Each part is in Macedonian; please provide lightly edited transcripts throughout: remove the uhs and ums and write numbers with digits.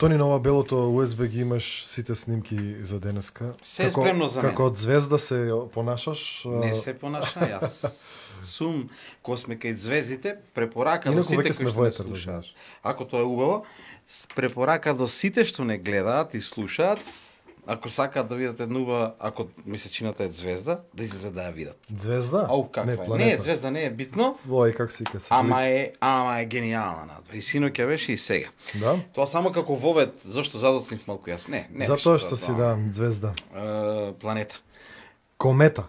Тони, на ова белото USB ги имаш сите снимки за денеска. Се е спремно за мене. Како од звезда се понашаш? Не се понаша, јас сум, кога сме кај звездите, препорака до Инаку сите веќе сме кои што во не етер, да слушаат. знаеш. Ако тоа е убаво, препорака до сите што не гледаат и слушаат, ако сакаат да видат една убава, ако месечината е звезда, да излезе да ја видат. Звезда? Ау, каква е? планета. Не, звезда не е битно, Ој, как се ика? ама е гениална надва. И синоќа беше и сега. Да? Тоа само како вовет, зашто задоцнив малку јас. Не Затоа беше што тоа, си, да, звезда. планета. Комета.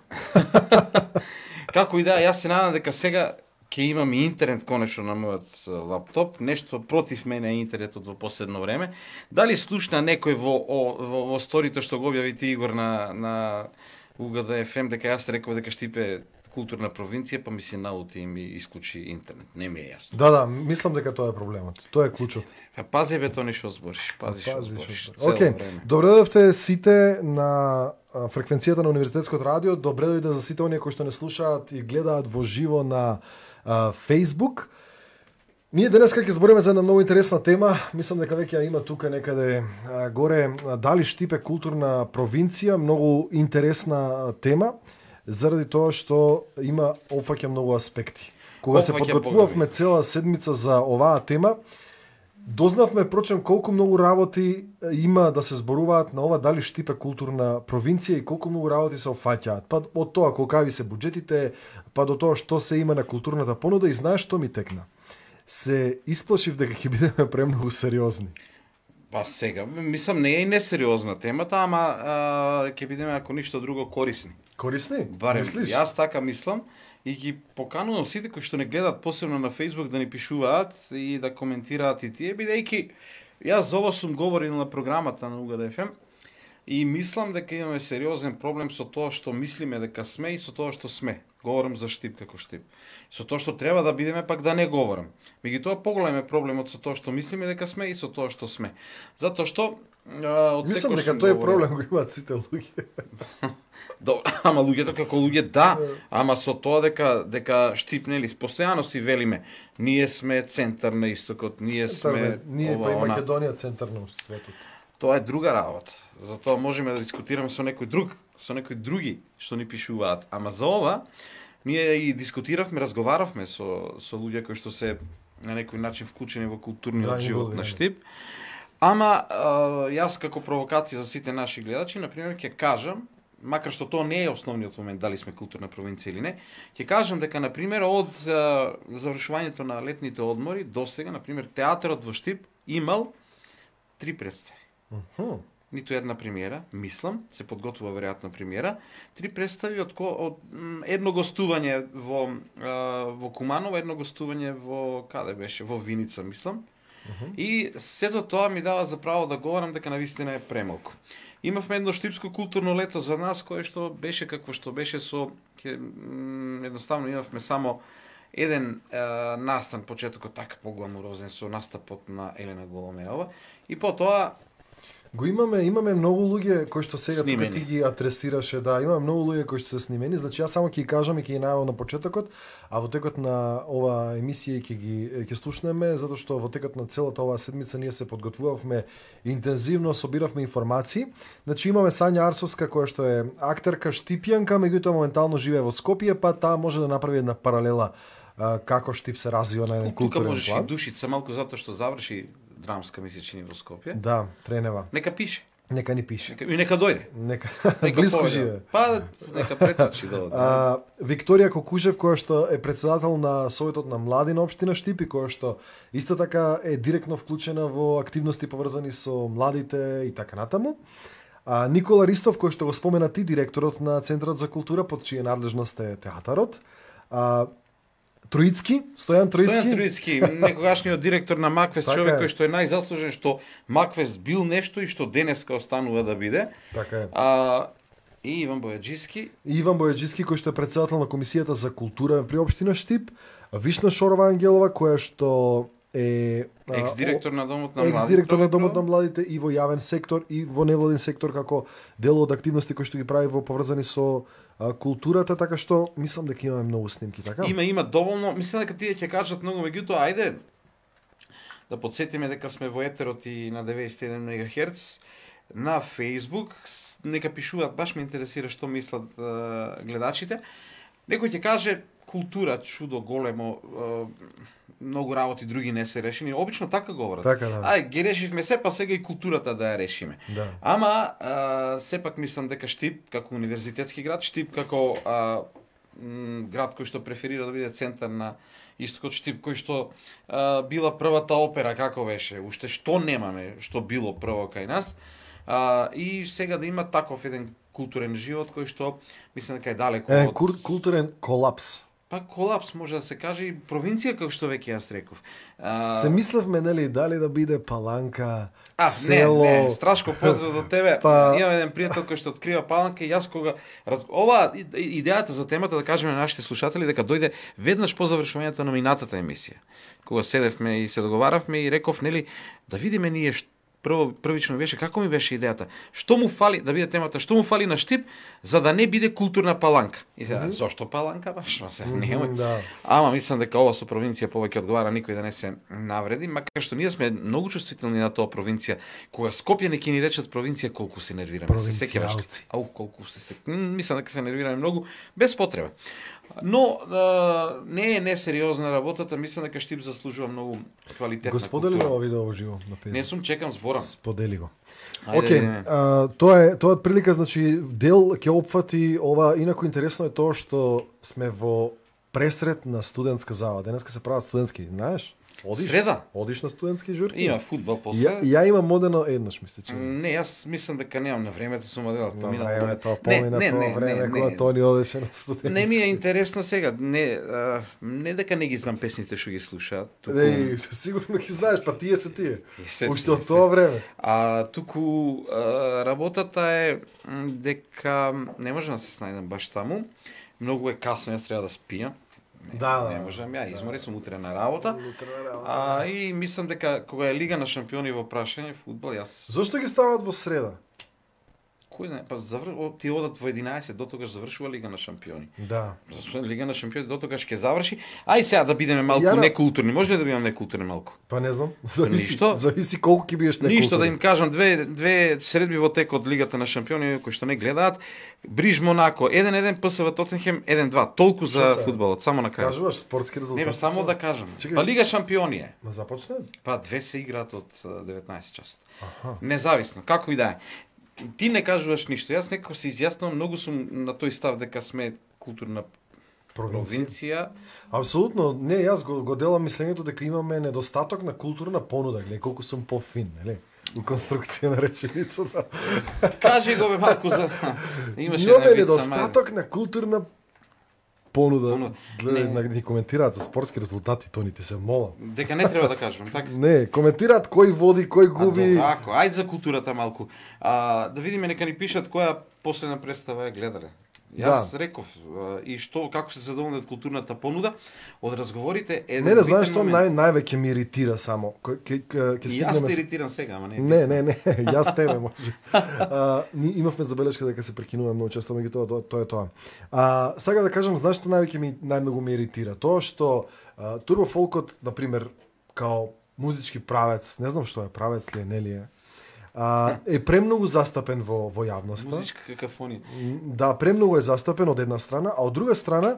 Како и да, јас се надам дека сега ќе имам и интернет конечно на мојот лаптоп, нешто против мене е интернетот во последно време. Дали слушна некој во сторито што го објави ти Игор на УГД FM дека јас реков дека Штип културна провинција, па ми се налути и ми исклучи интернет. Не ми е јасно. Да, мислам дека тоа е проблемот. Тоа е клучот. Па пази бе тоа што збориш, пази што збориш. Океј, добре дојдовте сите на фреквенцијата на Универзитетското радио. Добре дојде за сите оние кои што не слушаат и гледаат во живо на Facebook. Ние денеска ќе збориме за една многу интересна тема. Мислам дека веќе ја има тука некаде горе. Дали Штип е културна провинција? Многу интересна тема, заради тоа што има опфаќа многу аспекти. Кога се подготвувавме цела седмица за оваа тема, дознавме прочем колку многу работи има да се зборуваат на ова дали Штип е културна провинција и колку многу работи се опфаќаат. Па од тоа колкави се буџетите, па до тоа што се има на културната понуда и знаеш што ми текна. Се исплашив дека ќе бидеме премногу сериозни. Па сега, мислам не е и несериозна темата, ама ќе бидеме ако ништо друго корисни. Корисни? Барем, мислиш? јас така мислам и ги поканувам сите кои што не гледаат посебно на Facebook да ни пишуваат и да коментираат и тие, бидејќи јас за ова сум говорил на програмата на УГД FM и мислам дека имаме сериозен проблем со тоа што мислиме дека сме и со тоа што сме. Говорам за Штип како Штип. Со тоа што треба да бидеме, пак да не говорам. Меѓутоа поголем е проблемот со тоа што мислиме дека сме и со тоа што сме. Затоа што од мислам дека тој е проблем го имаат сите луѓе. Ама луѓето како луѓе да, ама со тоа дека Штип нели постојано си велиме, ние сме центар на истокот, ние сме ние па и Македонија центар на светот. Тоа е друга работа. Затоа можеме да дискутираме со некој други што ни пишуваат. Ама за ова ние и дискутиравме, разговаравме со луѓе кои што се на некој начин вклучени во културниот живот на Штип. Ама јас како провокација за сите наши гледачи, на пример, ќе кажам, макар што тоа не е основниот момент дали сме културна провинција или не, ќе кажам дека на пример од завршувањето на летните одмори до сега, на пример, театарот во Штип имал 3 представи. Ниту една премиера, мислам, се подготвува веројатно премиера, 3 представи од едно гостување во Куманово, едно гостување во каде беше, во Виница, мислам. И сето тоа ми дава за право да говорам дека навистина е премалку. Имавме едно штипско културно лето за нас, кое што беше какво што беше едноставно имавме само еден настан, почетокот така погламурозен со настапот на Елена Голомеова и потоа го имаме многу луѓе кои што сега тука ти ги адресираше, да, имаме многу луѓе кои што се снимени, значи јас само ќе ги кажам и ќе ги најавам на почетокот, а во текот на ова емисија ќе слушнеме, затоа што во текот на целата оваа седмица ние се подготвувавме интензивно, собиравме информации. Значи имаме Сања Арсовска која што е актерка штипјанка, меѓутоа моментално живее во Скопје, па таа може да направи една паралела како Штип се развива на еден културен план. Тука можеш и Душица малку затоа што заврши драмска месечини во Скопје. Да, тренева. Нека пише. Нека ни пише. И нека дојде. Нека близко живее. Па нека претечи да оди. Викторија Кокужев која што е претседател на Советот на млади на општина Штип и која што исто така е директно вклучена во активности поврзани со младите и така натаму. Никола Ристов кој што го спомена ти, директорот на Центарот за култура под чија надлежност е театарот. Стојан Троицки, некогашниот директор на Маквест, така човек кој што е најзаслужен што Маквест бил нешто и што денеска останува да биде. Така е. И Иван Бојаджиски. Кој што е претседател на Комисијата за култура при општина Штип, Вишна Шорова Ангелова која што е екс-директор на Домот на младите и во јавен сектор и во невладин сектор како дел од активности кои што ги прави во поврзани со културата, така што мислам дека имаме многу снимки, така? Има доволно, мислам дека тие ќе кажат многу, меѓутоа ајде да подсетиме дека сме во етерот и на 91 МГц. На Facebook, нека пишуваат, баш ме интересира што мислат гледачите. Некој ќе каже култура, чудо големо, многу работи други не се решени. Обично така говорат. Така, да. Ај, ги решивме се, па сега и културата да ја решиме. Да. Ама, сепак мислам дека Штип, како универзитетски град, Штип како град кој што преферира да биде центар на истокот, Штип кој што била првата опера, како беше, уште што немаме, што било прво кај нас, и сега да има таков еден културен живот кој што мислам дека е далеко од културен колапс. Па колапс може да се каже и провинција како што веќе јас реков. Се мислевме нели дали да биде Паланка, село. Не, Страшко поздрав до тебе. Имам еден пријател кој што открива Паланка и јас кога ова идејата за темата да кажеме на нашите слушатели дека дојде веднаш по завршувањето на минатата емисија. Кога седевме и се договаравме и реков нели да видиме ние првично беше како ми беше идејата. Што му фали да биде темата, што му фали на Штип за да не биде културна Паланка. И сега зошто Паланка баш? Да. Ама мислам дека ова со провинција повеќе одговара, никој да не се навреди, макар што ние сме многу чувствителни на тоа провинција. Кога Скопје не ќе ни речат провинција, колку се нервираме. Се сеќаваш. Колку се мислам дека се нервираме многу без потреба. Но не е несериозна работата, мислам дека Штип заслужува многу квалитетна култура. Сподели го видео уживо на Facebook. Не сум, чекам зборам. Сподели го. Тоа е прилика, значи дел ќе опфати ова, инаку интересно е тоа што сме во пресред на студентска зала. Денеска се прават студентски, знаеш? Среда? Одиш на студентски журки? Има фудбал после. Ја имам модено еднаш, мисля, че. Не, јас мислам дека немам на времето сум одел, помина време. Помина време кога Тони одеше на студентски. Не ми е интересно сега, не дека не ги знам песните што ги слушаат. Сигурно ги знаеш, па тие се тие. Уште од тоа време. Туку работата е дека не можам да се снајдам баш таму. Многу е касно, јас треба да спијам. Не можам, ја измори сум утре на работа. И мислам дека кога е Лига на шампиони во прашање фудбал, јас. Зошто ги стават во среда? Кој не, па ти одат во 11, до тогаш завршува Лига на шампиони. Да. Лига на шампиони до тогаш ќе заврши. Ај сега да бидеме малку некултурни. Може ли да бидеме некултурни малку? Па не знам. Зависи колку ќе бидеш некултурни. Ништо да им кажам две средби во текот Лигата на шампиони кои што не гледаат. Бриж Монако 1-1, ПСВ Тотенхем 1-2. Толку за фудбалот, само на крај. Кажуваш спортски резултати. Не, само да кажам. Па Лига шампиони е. Ма започна? Па две се играат од 19 часот. Независно, како и да е. Ти не кажуваш ништо. Јас некако се изјаснувам, многу сум на тој став дека сме културна провинција. Апсолутно, не, јас го делам мислењето дека имаме недостаток на културна понуда, гледај колку сум пофин, нели? У конструкција на реченицата. Кажи го бе малку за имаме недостаток на културна понуда. Гледај, да коментираат за спортски резултати, тоните се молам. Дека не треба да кажувам, така? Не, коментираат кој води, кој губи. Ајде за културата малку. Да видиме, нека ни пишат која последна представа ја гледале. Јас реков и што како се задоволни од културната понуда од разговорите е не знаеш што највеќе ми иритира само ќе стигнеме. Јас те иритирам сега, ама не. Не, јас тебе може. Имавме забелешка дека се прекинуваме многу често, меѓутоа тоа е тоа. Сега да кажам, знаеш што најмногу ми иритира? Тоа што турбофолкот, на пример, као музички правец, не знам што е правец ли е, нели е, е премногу застапен во јавноста. Музичка какафонија. Да, премногу е застапен од една страна, а од друга страна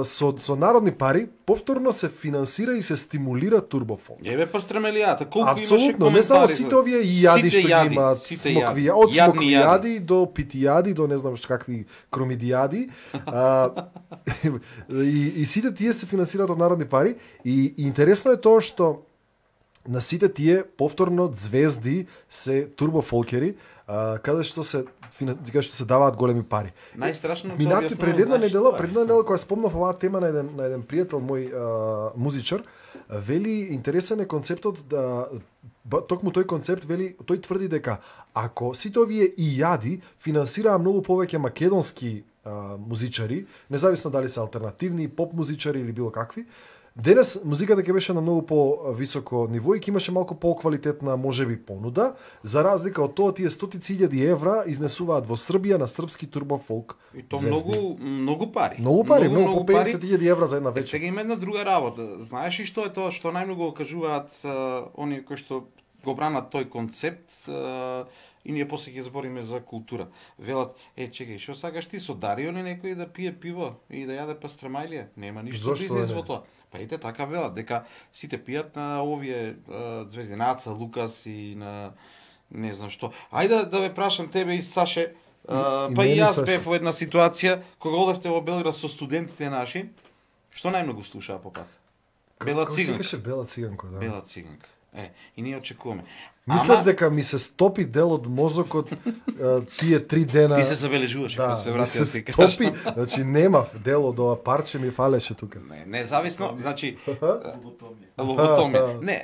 со народни пари повторно се финансира и се стимулира турбофолк. Еве па стремелијата, колку имаше коментари. Апсолутно, не само сите овие јади што ги имаат, од смоквијади до питијади до не знам што какви кромидијади. И сите тие се финансираат од народни пари и интересно е тоа што на сите тие повторно звезди се турбофолкери, каде што се даваат големи пари. Најстрашно минати пред една недела кога спомнав оваа тема на еден пријател мој музичар, вели интересен е концептот токму тој концепт вели, тој тврди дека ако сите овие јади финансираа многу повеќе македонски музичари, независно дали се алтернативни, поп музичари или било какви, Денес музиката ќе беше на многу по-високо ниво и ќе имаше малку по-квалитетна можеби понуда, за разлика од тоа тие стотици илјади евра изнесуваат во Србија на српски турбофолк. И то многу пари. Многу пари, многу по 50.000 евра за една вечер. Сега има една друга работа. Знаеш ли што е тоа што најмногу кажуваат оние кои што го бранат тој концепт, и ние после ќе збориме за култура. Велат, чекај, што сакаш ти со Дарио ли некој да пие пиво и да јаде пастрамајлија? Нема ништо бизнес во тоа. Па ете така велат, дека сите пијат на овие звезди, на Аца Лукас и на не знам што. Ајде да ве прашам тебе и Саше, па и јас бев во една ситуација кога одевте во Белград со студентите наши, што најмногу слушаа по пат? Бела циганка. Како се Бела циганка, да. Бела циганка. И ние очекуваме. Мислев дека ми се стопи дел од мозокот тие 3 дена. Ти се забележуваш кога се врати да ти кажам. Стопи, значи немав дел од ова парче ми фалеше тука. Независно, значи лоботомија. Не,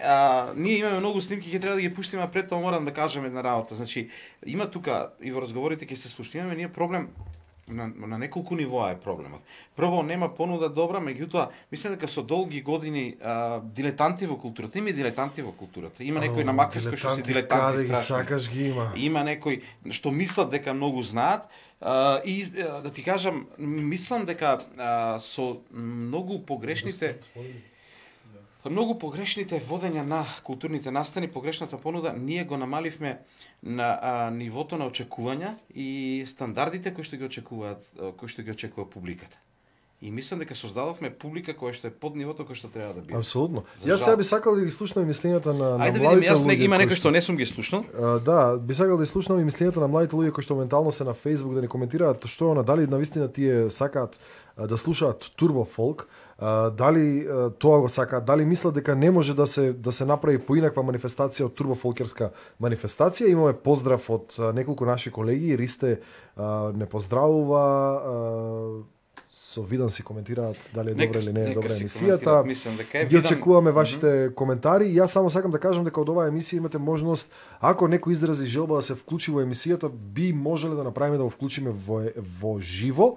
ние имаме многу снимки, ќе треба да ги пуштиме, а пред тоа морам да кажам една работа. Значи, има тука и во разговорите ќе се слушаме, имаме ние проблем на неколку нивоа е проблемот. Прво, нема понуда добра, меѓутоа, мислам дека со долги години дилетанти во културата, има и дилетанти во културата. Има некои на Макфис кои што се дилетанти страшно. Сакаш ги има. Има некои што мислат дека многу знаат, и да ти кажам, мислам дека со многу погрешните водења на културните настани, погрешната понуда, ние го намаливме на нивото на очекувања и стандардите кои што ги очекува публиката. И мислам дека создадовме публика која што е под нивото кој што треба да биде. Апсолутно. Јас сега би сакал да ги слушнам мислењата на младите луѓе. Ајде видиме, јас има некој што не сум ги слушнал. Да, би сакал да ги слушнам и мислењата на младите луѓе кои што моментално се на Facebook да ни коментираат што дали навистина тие сакаат да слушаат турбофолк. Дали тоа го сакаат, дали мислат дека не може да се направи поинаква манифестација од турбофолкерска манифестација. Имаме поздрав од неколку наши колеги, Ристе не поздравува, со Видан си коментираат дали е добра или не е добра емисијата. Ги очекуваме вашите коментари. Јас само сакам да кажам дека од оваа емисија имате можност, ако некој изрази желба да се вклучи во емисијата, би можеле да направиме да го вклучиме во живо,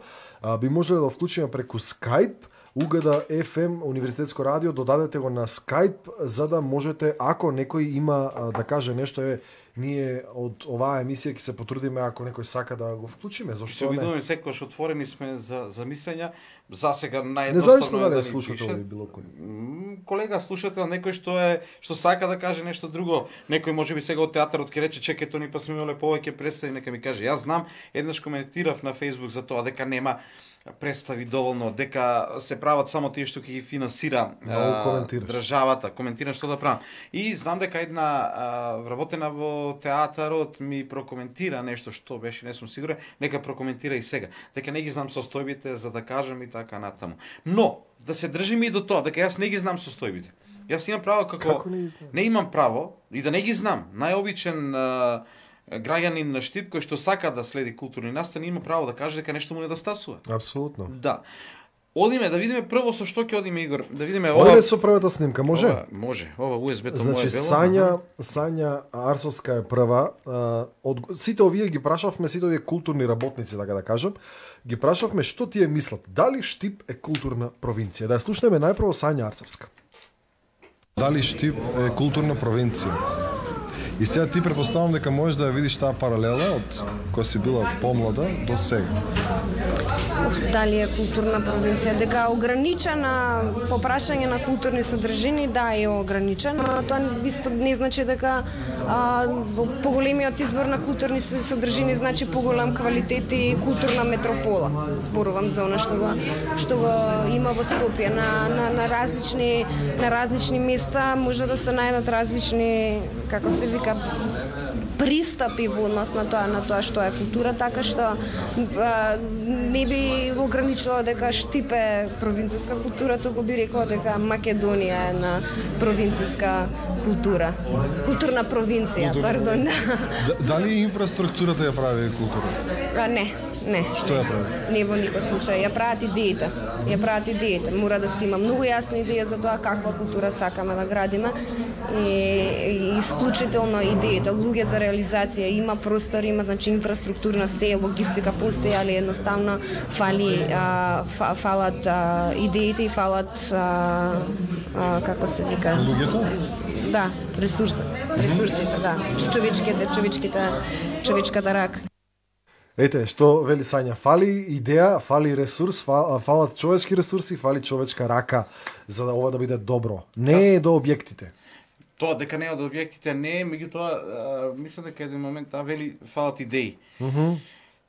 би можеле да го вклучиме преку Skype. УГД FM Универзитетско радио, додадете го на Skype за да можете, ако некој има да каже нешто, ние од оваа емисија ќе се потрудиме ако некој сака да го вклучиме, зашто се обидуваме секогаш отворени сме за мислења. За сега наједноставно независно дали слушател или било кој. Колега слушател, некој што сака да каже нешто друго, некој можеби сега од театарот ќе рече чекај тони па сме имале повеќе представи, нека ми каже. Јас знам, еднаш коментирав на Facebook за тоа дека нема представи доволно, дека се прават само тие што ќе ги финансира државата. Коментирам што да правам. И знам дека една вработена во театарот ми прокоментира нешто што беше, не сум сигурен, нека прокоментира и сега. Дека не ги знам состојбите за да кажам и така натаму. Но да се држиме и до тоа, дека јас не ги знам состојбите. Јас имам право како не имам право и да не ги знам. Најобичен граѓанин на Штип кој што сака да следи културни настани има право да каже дека нешто му недостасува. Апсолутно. Да. Одиме да видиме прво со што ќе одиме, Игор. Да видиме ова со првата снимка, може? Може. Ова USB-то значи, моје бело. Сања Арсовска е прва. Од сите овие ги прашавме, сите овие културни работници, така да кажам, ги прашавме што тие мислат. Дали Штип е културна провинција? Да ја слушнеме најпрво Сања Арсовска. Дали Штип е културна провинција? И сега ти предпоставам дека можеш да ја видиш таа паралела од кога си била помлада до сега. Дали е културна провинција? Дека ограничена по прашање на културни содржини, да, е ограничена, но тоа исто не значи дека поголемиот избор на културни содржини значи поголем квалитет и културна метропола. Зборувам за она што го има во Скопје на различни места, може да се најдат различни, како се вика, пристапи во однос на тоа што е култура, така што не би ограничила дека Штип е провинцијска култура, туку би рекла дека Македонија е на провинцијска култура. Културна провинција, пардон. Дали инфраструктурата ја прави култура? Не. Не. Што ја прави? Не во никој случај. Ја прават идеите. Мора да се има многу јасна идеја за тоа каква култура сакаме да градиме и исклучително идеите, луѓе за реализација, има простор, има значи инфраструктурна се, логистика постои, али едноставно фалат идеите и фалат како се вика? Луѓето? Да, ресурсите, да. Човечката рака. Ете, што вели Сања, фали идеја, фали ресурс, фалат човечки ресурси, фали човечка рака за да ова да биде добро. Не е до објектите. Тоа дека не е од објектите, не е, меѓутоа мислам дека еден момент вели фалат идеи.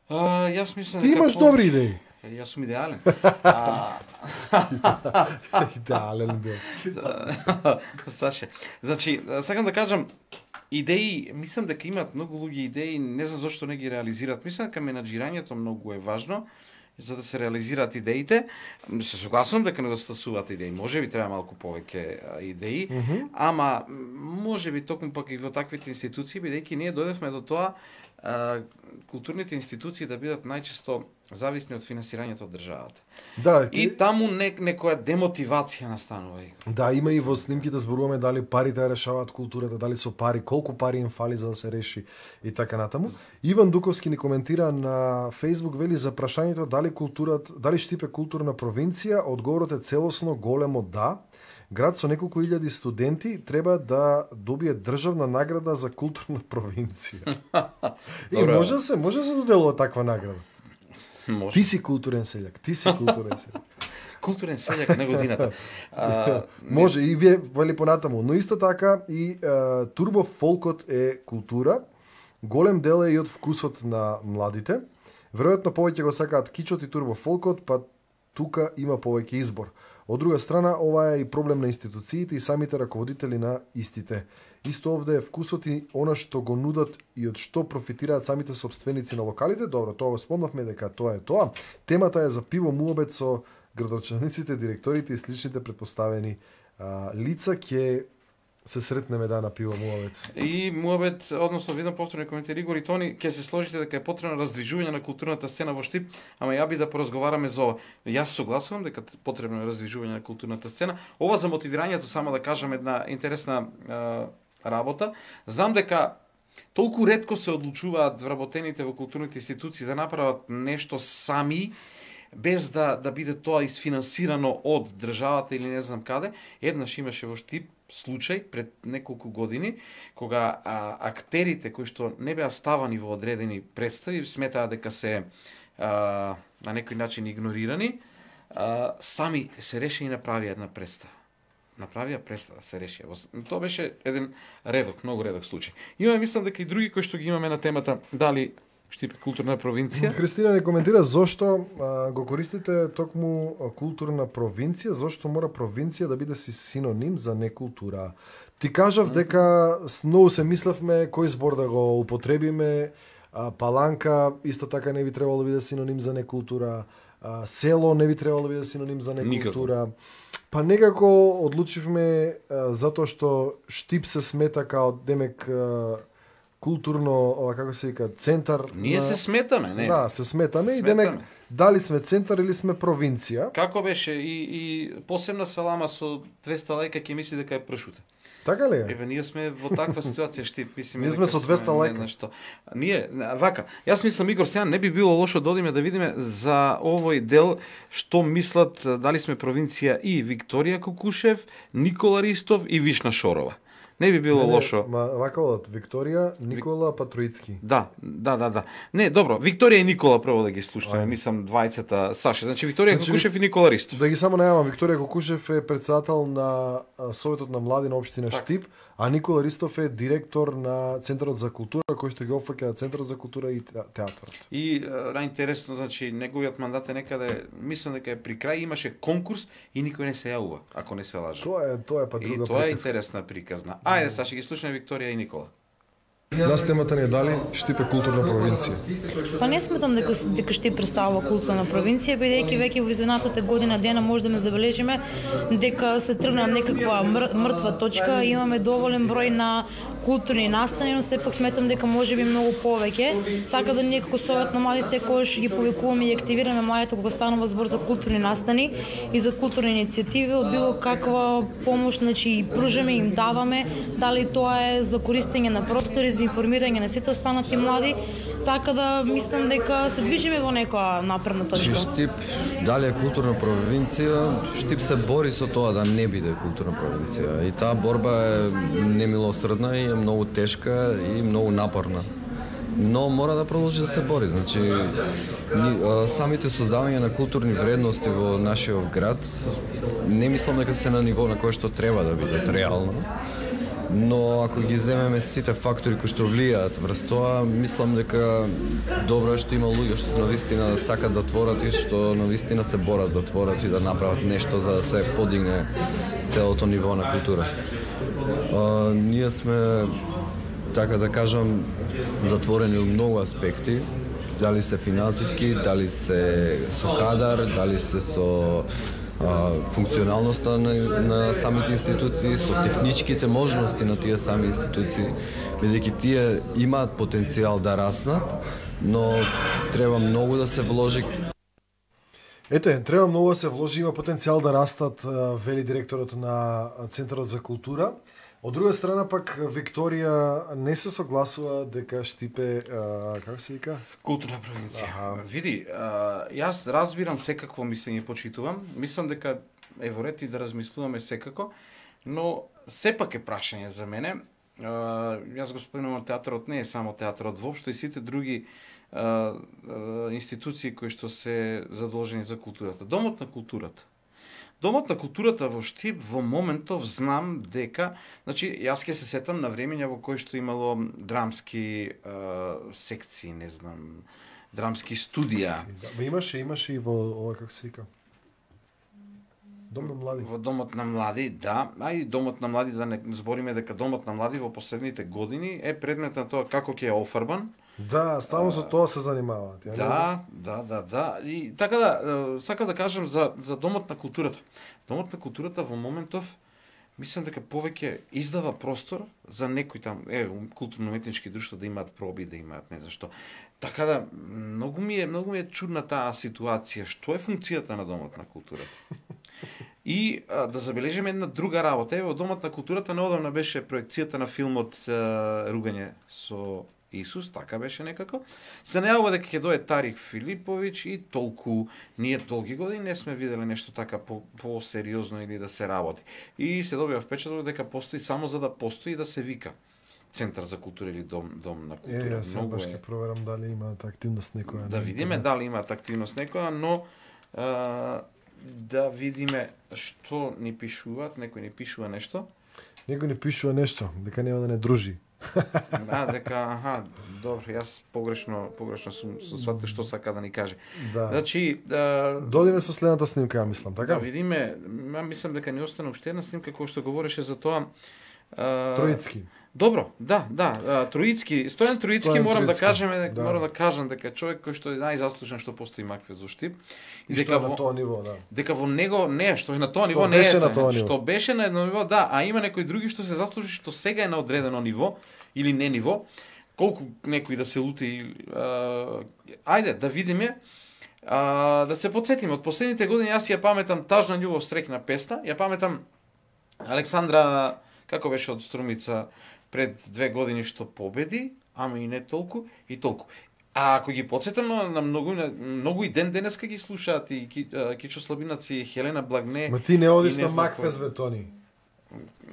Јас мислам дека Ти имаш добри идеи. Јас сум идеален. Идеален бил. Саше. Значи, сакам да кажам, идеи, мислам дека имаат многу луѓе идеи, не знам зошто не ги реализираат. Мислам дека менаџирањето многу е важно за да се реализираат идеите. Се согласувам дека недостасуваат идеи. Можеби треба малку повеќе идеи, ама можеби токму пак и во таквите институции, бидејќи ние дојдевме до тоа културните институции да бидат најчесто зависни од финансирањето од државата. Да, И таму некоја демотивација настанува. Да, има и во снимките зборуваме дали парите ја решаваат културата, дали со пари, колку пари им фали за да се реши и така натаму. Иван Дуковски ни коментира на Facebook, вели за прашањето дали Штип е културна провинција, одговорот е целосно големо да. Град со неколку илјади студенти треба да добие државна награда за културна провинција. И може да се доделува таква награда. Може. Ти си културен селјак, Културен селјак на годината. Може и вие вели понатаму, но исто така и турбо фолкот е култура. Голем дел е и од вкусот на младите. Веројатно повеќе го сакаат кичот и турбо фолкот, па тука има повеќе избор. Од друга страна, ова е и проблем на институциите и самите раководители на истите. Исто овде е вкусот и она што го нудат и од што профитираат самите собственици на локалите. Добро, тоа го спомнавме дека тоа е тоа. Темата е за пиво муабет со градочаниците, директорите и сличните претпоставени лица. Ќе се сретнеме на пиво муабет. И муабет, односно видам повторно коментар Игор и Тони, ќе се сложите дека е потребно раздвижување на културната сцена во Штип, ама ја би да поразговараме за ова. Јас согласувам дека потребно е раздвижување на културната сцена. Ова за мотивирањето, само да кажам една интересна работа. Знам дека толку ретко се одлучуваат вработените во културните институции да направат нешто сами, без да биде тоа изфинансирано од државата или не знам каде. Еднаш имаше во Штип случај пред неколку години, кога актерите кои што не беа ставани во одредени представи, сметаа дека се на некој начин игнорирани, сами се реши и направија една представа. Се реши. Тоа беше еден многу редок случај. Имаме, мислам дека и други кои што ги имаме на темата дали Штип е културна провинција. Христина не коментира зошто го користите токму културна провинција, зошто мора провинција да биде синоним за некултура. Ти кажав дека многу се мислевме кој збор да го употребиме, Паланка исто така не би требало да биде синоним за некултура, село не би требало да биде синоним за некултура. Па некако одлучивме затоа што Штип се смета као демек културно, како се вика, центар. Ние се сметаме, не? Да, се сметаме и демек дали сме центар или сме провинција. Како беше и посебна салама со 200 лајка ќе мисли дека е пршута. Така ли е? Еве ние сме во таква ситуација, Штип, мислиме. Ние сме со 200 лајка. Ние вака, јас мислам Игор сега не би било лошо да одиме да видиме за овој дел што мислат дали сме провинција и Викторија Кокушев, Никола Ристов и Вишна Шорова. Не би било лошо. Вака одат Викторија, Никола, Патруицки. Да. Не, добро, Викторија и Никола прво да ги слушаме, мислам двајцата Саше. Значи Викторија Кокушев и Никола Ристов. Да ги само најавам, Викторија Кокушев е председател на Советот на млади на општина Штип, а Никола Ристов е директор на Центарот за култура, кој што ги опфаќа Центарот за култура и театарот. И најинтересно, значи неговиот мандат е некаде, мислам дека е при крај, имаше конкурс и никој не се јавува, ако не се лаже. Тоа е па друга приказна. И тоа е интересна приказна. Ајде, сега ќе ги слушаме Викторија и Никола. Нас темата не е дали Штип е културна провинција. Па не сметам дека Штип представува културна провинција, бидејќи веќе во изминатата година дена може да ме забележиме дека се тргна некаква мртва точка, имаме доволен број на културни настани, но сепак сметам дека можеби многу повеќе, така да ние како Совет на млади секогаш ги повикуваме и активираме младите кога станува збор за културни настани и за културни иницијативи, од било каква помош, значи пружаме, им даваме, дали тоа е за користење на простори, за информирање на сите останати млади, така да мислам дека се движиме во некоја напредна точка. Штип, дали е културна провинција, Штип се бори со тоа да не биде културна провинција. И таа борба е немилосредна и е многу тешка и многу напорна. Но мора да продолжи да се бори. Значи, самите создавање на културни вредности во нашиот град, не мислам дека се на ниво на кое што треба да бидат реално. Но ако ги земеме сите фактори кои што влијаат врз тоа, мислам дека добро е што има луѓе што навистина сакат да творат и што навистина се борат да творат и да направат нешто за да се подигне целото ниво на култура. Ние сме, така да кажам, затворени од многу аспекти, дали се финансиски, дали се со кадар, дали се со функционалноста на самите институции, со техничките можности на тие сами институции, бидејќи тие имаат потенцијал да раснат, но треба многу да се вложи. Ете, треба многу да се вложи, има потенцијал да растат, вели директорот на Центарот за култура. Од друга страна пак Викторија не се согласува дека Штип е, како се вика? Културна провинција. Види, јас разбирам секакво мислење, почитувам. Мислам дека е во ред и да размислуваме секако, но сепак е прашање за мене. Јас го спомнувам, театарот не е само театарот, воопшто и сите други институции кои што се задолжени за културата. Домот на културата. Домот на културата во Штип во моментов знам дека, значи јас ќе се сетам на времења во кои што имало драмски секции, не знам, драмски студија. Да, имаше и во ова, како се вика? Дом на млади. Во Домот на млади, да, а и Домот на млади, да не збориме дека Домот на млади во последните години е предмет на тоа како ќе е офарбан. Да, само со тоа се занимаваат. Да. И така да, сакам да кажам за Домот на културата. Домот на културата во моментов мислам дека повеќе издава простор за некои там, културно-уметнички друштва да имаат проби, да имаат не знам што. Така да, многу ми е чудна таа ситуација. Што е функцијата на Домот на културата? И да забележиме една друга работа. Во Домот на културата неодамна беше проекцијата на филмот Ругање со Исус, така беше некако. Се најавува дека ќе дое Тарик Филиповиќ и толку. Ние долги години не сме виделе нешто така по-сериозно или да се работи. И се добива впечаток дека постои само за да постои и да се вика Центар за култура или дом на култура. Јас баш ќе проверам дали имаат активност некоја. Да видиме дали имаат активност некоја, но да видиме што ни пишуваат, некој ни пишува нешто. Некој ни пишува нешто, дека нема да не дружи. Да, дека, добро, јас погрешно сум сватил што сака да ни каже. Да. Значи, додиме со следната снимка, ја мислам, така? Да видиме, мислам дека ни остана уште една снимка која што говореше за тоа. Троицки. Добро, да, Троицки, Стојан Троицки, морам да кажам дека човек кој што е најзаслужен што постои Макфест во Штип и дека на тоа ниво, да. Дека во него што е на тоа ниво не е, што беше на едно ниво, да, а има некои други што се заслужи што сега е на одредено ниво или не ниво, колку некои да се лути, ајде да видиме. Да се потсетиме од последните години, јас ја паметам Тажна љубов, среќна песна, ја паметам Александра, како беше од Струмица пред 2 години што победи, ама и не толку и толку. А ако ги потсетам на многу и денеска ги слушаат и Кичо Слабинац и Хелена Благне. Ма ти не одиш на Макфест, бе, Тони?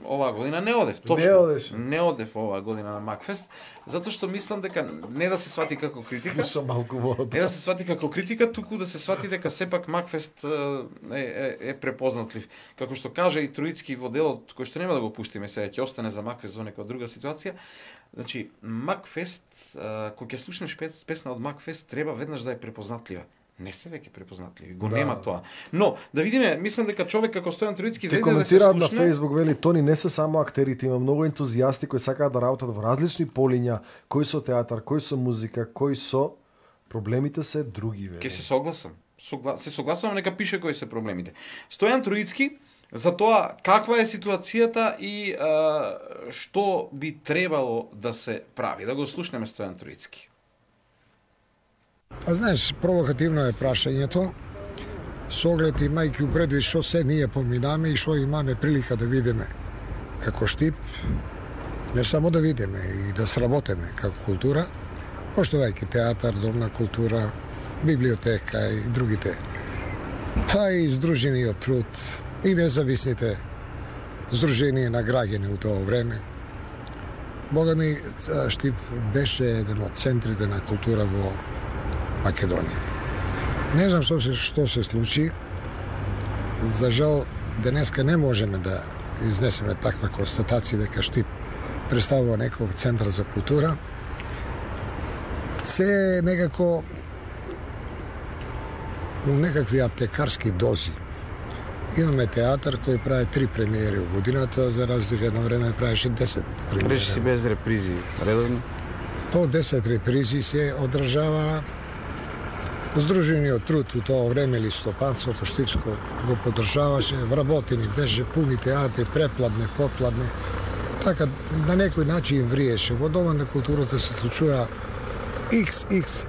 Оваа година не одев, точно. Не одев оваа година на Макфест, затоа што мислам дека не да се свати како критика. Слушам малку вода. Не да се свати како критика, туку да се свати дека сепак Макфест е препознатлив. Како што каже и Троицки во делот, кој што нема да го пуштиме сега, ќе остане за Макфест во некоја друга ситуација. Значи, Макфест, кога ќе слушнеш песна од Макфест, треба веднаш да е препознатлива. Не се веќе препознатливи, го нема тоа. Но, да видиме, мислам дека човек како Стојан Троицки вреди да се слушне. На Facebook, вели, Тони, не се само актерите, има многу ентузијасти кои сакаат да работат во различни полиња, кои со театар, кои со музика, кои со проблемите се други, вели. Ке се согласам. Се согласувам, нека пише кои се проблемите. Стојан Троицки за тоа каква е ситуацијата и што би требало да се прави. Да го слушнеме Стојан Троицки. Па знаеш, провокативно е прашањето, со оглед имајќи у предвид што се ние поминаме и што имаме прилика да видиме како Штип, не само да видиме и да сработиме како култура, поштувајќи театар, домна култура, библиотека и другите, па и Сдружениот труд и независните здруженија на граѓани у тоа време. Бога ми, Штип беше еден од центрите на култура во Македонија. Не знам што се случи. За жал, денеска не можеме да изнесеме таква констатација дека Штип представува некој центар за култура. Се некако у некакви аптекарски дози. Имаме театар кој прави 3 премиери во годината, за разлика едно време правеше 10 премиери. Речи си без репризи, редовно? По 10 репризи се одржава. Сдружениот труд у тоа време листопадството штипско го поддржаваше, вработени беше, пуни театри, препладне, попладне. Така, на некој начин вриеше. Во Дома на културата се случува XX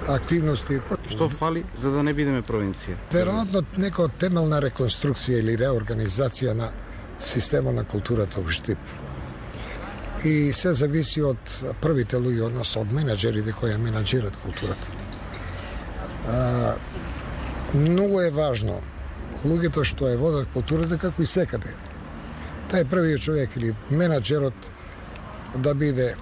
активности. Што фали за да не бидеме провинција? Веројатно некоја темелна реконструкција или реорганизација на системот на културата во Штип. И се зависи од првите луѓе, односно од менаџерите кои ја менаџират културата. Многу е важно луѓето што ја водат културата како и секаде. Тај првиот човек или менаџерот да биде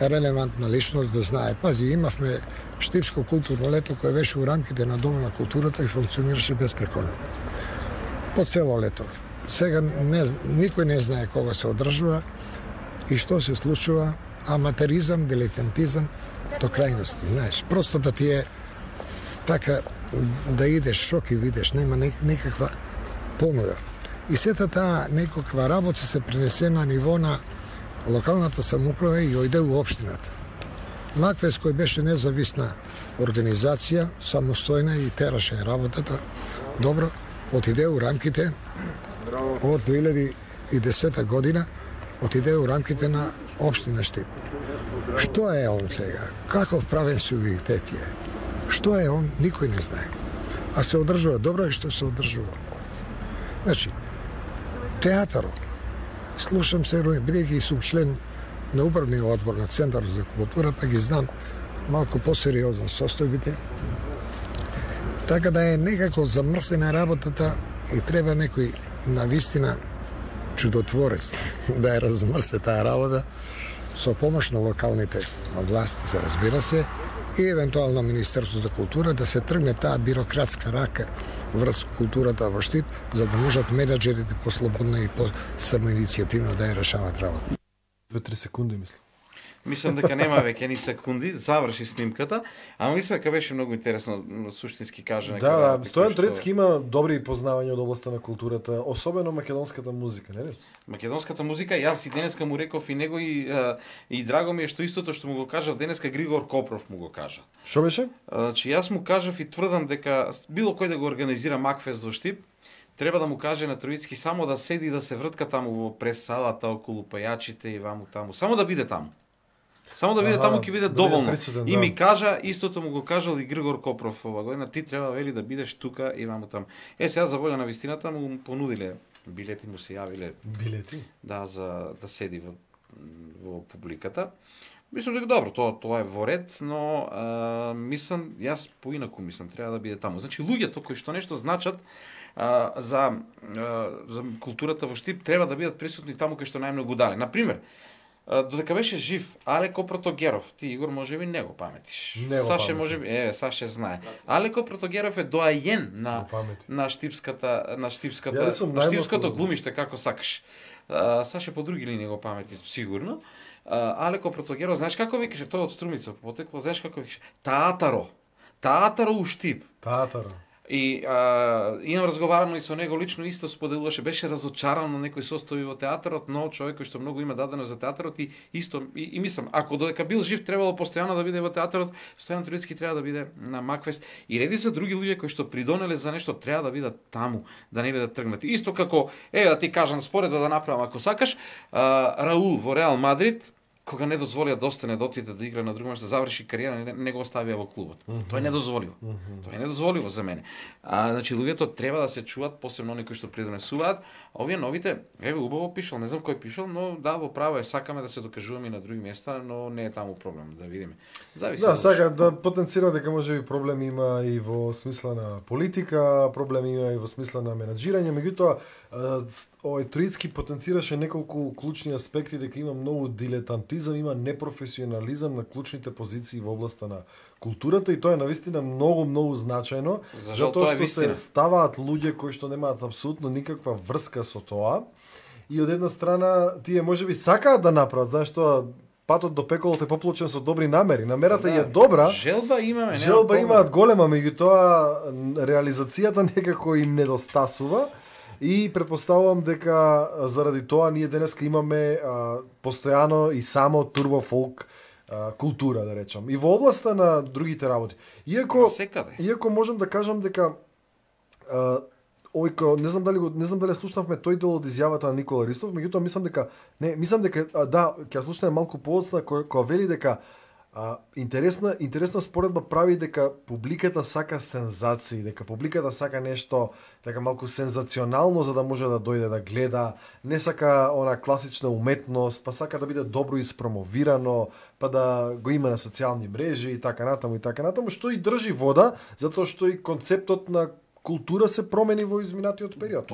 релевантна личност, да знае. Пази, имавме Штипско културно лето кое беше у рамките на Дома на културата и функционираше безпрекорно. По цело лето. Сега никој не знае кога се одржува и што се случува. Аматеризам, дилетантизам до крајности, знаеш. Просто да ти е така да идеш шок и видиш, нема никаква понуда. И сета таа некаква работа се пренесе на ниво на локалната самоуправа и ојде у општината. Маквес кој беше независна организација, самостојна и тераше работата, добро, отиде у рамките од 2010 година, отиде у рамките на општина Штип. Што е он сега? Каков правен субјектет е? Што е он? Никој не знае. А се одржува. Добро е што се одржува. Значи, театарот. Слушам се, бидејќи сум член на управниот одбор на Центарот за култура, па ги знам малку посериозно состојбите. Така да е некако замрсена работата и треба некој навистина чудотворец да ја размрсе таа работа со помош на локалните власти, се разбира се, и евентуално Министерство за култура да се тргне таа бирократска рака врз културата во Штип, за да можат менаџерите послободно и по самоиницијативно да ја решават работа. 2-3 секунди, мислам. Мислам дека нема веќе ни секунди, заврши снимката, ама мислам дека беше многу интересно, суштински кажа. Да, Стојан Троицки има добри познавања од областта на културата, особено македонската музика, не ли? Македонската музика, јас и денеска му реков и него и драго ми е што истото што му го кажав денеска Григор Копров му го кажа. Што беше? Значи јас му кажав и тврдам дека било кој да го организира Макфест во Штип, треба да му каже на Троицки само да седи и да се вртка таму во прес-салата околу пајачите и ваму таму, само да биде таму. Само да биде таму ќе биде доволно. Присутен, и ми кажа, истото му го кажал и Григор Копров ова година, ти треба вели да бидеш тука и ваму таму. Сега за волја на вистината му понудиле билети, му се јавиле. Билети? Да, за да седи во публиката. Мислам дека добро, тоа е во ред, но мислам, јас поинаку мислам, треба да биде таму. Значи луѓето кои што нешто значат за културата во Штип треба да бидат присутни таму кај што најмногу дали. Например, додека беше жив Алеко Протогеров, ти Игор можеби не го паметиш. Саше можеби, Саше знае. Алеко Протогеров е доајен на штипското глумиште како сакаш. Саше по други линии го памети сигурно. Алеко Протогеров, знаеш како викаше, тој од Струмица потекло, знаеш како викаше? Театаро у Штип. Театаро. И имам разговарано и со него лично, исто споделуваше, беше разочаран на некои состојби во театарот, но човек кој што многу има дадено за театарот и исто и мислам, ако додека бил жив требало постојано да биде во театарот, Стојан Троицки треба да биде на Макфест и редица други луѓе кои што придонеле за нешто треба да бидат таму, да не бидат тргнати. Исто како да ти кажам споредба да направам ако сакаш, Раул во Реал Мадрид кога не дозволија да остане да отиде да игра на друго место, да заврши кариера, не го оставија во клубот. Тоа е недозволиво. Тоа е недозволиво за мене. Значи луѓето треба да се чуваат, посебно оние кои што придонесуваат. Овие новите, убаво пишал, не знам кој пишал, но да, во право е, сакаме да се докажуваме и на други места, но не е таму проблем, да видиме. Зависи. Да, сака да потенцира дека можеби проблем има и во смисла на политика, проблем има и во смисла на менаџирање, меѓутоа овој Троицки потенцираше неколку клучни аспекти, дека има многу дилетантизам, има непрофесионализам на клучните позиции во областа на културата и тоа е навистина многу значајно, затоа што се ставаат луѓе кои што немаат апсолутно никаква врска со тоа. И од една страна тие можеби сакаат да направат, знаеш што патот до пеколот е поплочен со добри намери. Намерата е добра. Желба имаме, желба имаат голема, меѓутоа реализацијата некако им недостасува. И претпоставувам дека заради тоа ние денеска имаме постојано и само турбо фолк култура, да речам. И во областа на другите работи. Иако можам да кажам дека не знам дали слушнавме тој дел од изјавата на Никола Ристов, меѓутоа мислам дека ќе слушнеме малку подоцна која вели дека интересна споредба прави дека публиката сака сензации, дека публиката сака нешто така малку сензационално за да може да дојде да гледа, не сака она класична уметност, па сака да биде добро испромовирано, па да го има на социјални мрежи и така натаму, што и држи вода, затоа што и концептот на култура се промени во изминатиот период.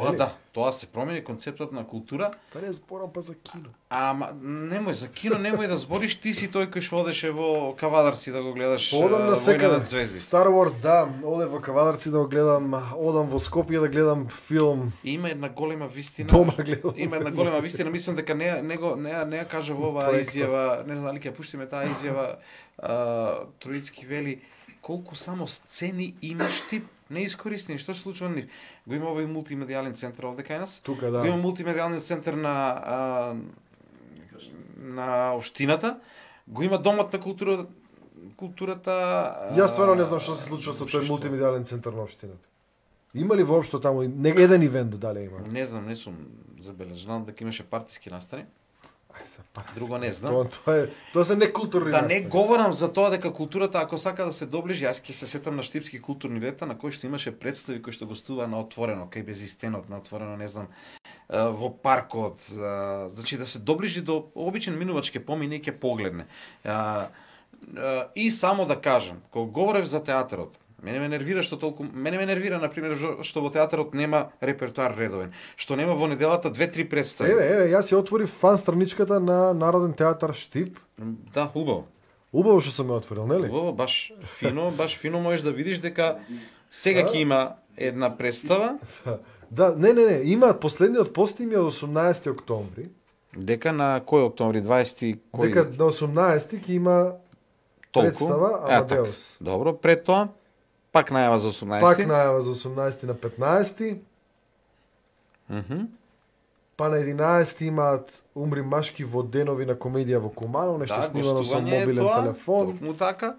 Тоа се промени концептот на култура. Па не зборам па за кино. Ама немој за кино, немој да збориш, ти си тој кој што одеше во Кавадарци да го гледаш. Одам на секаде. Звезди. Star Wars, да, одам во Кавадарци да го гледам, одам во Скопје да гледам филм. Има една голема вистина. Дома гледам. Има една голема вистина, мислам дека не ја кажа во оваа изјава, не знам дали ќе пуштиме таа изјава, Троицки вели колку само сцени имаш ти неискористени. Што се случува нив? Го има овој мултимедијален центар овде кај нас. Тука, да. Го има мултимедијалниот центар на општината. Го има домот на културата. Јас стварно не знам што се случува со тој мултимедијален центар на општината. Има ли воопшто таму еден ивент дали има? Не знам, не сум забележал. Знам дека имаше партиски настани. Друго не знам. Тоа се некултурни. Да не говорам за тоа дека културата ако сака да се доближи, јас ќе се сетам на Штипски културни лета на кој што имаше представи кои што гостуваа на отворено, кај Безистенот, на отворено, не знам, во паркот, значи да се доближи до обичен минувачки помине ќе погледне. И само да кажам, кога говорев за театарот, мене ме нервира на пример што во театарот нема репертоар редовен, што нема во неделата 2-3 представи. Јас ја отворив фан страничката на Народен театар Штип. Да, убаво. Убаво што сум ја отворил, нели? Убаво, баш фино можеш да видиш дека сега ќе има една представа. Да, не, има последниот пост им е од 18 октомври. Дека на кој октомври 20 кој? Дека на 18 ќе има представа Амадеус. Добро, пред тоа пак најава за 18. Пак најава за 18 на 15. Па на 11 имаат Умри машки во денови на комедија во Куманово, нешто снимано со мобилен телефон. Токму така.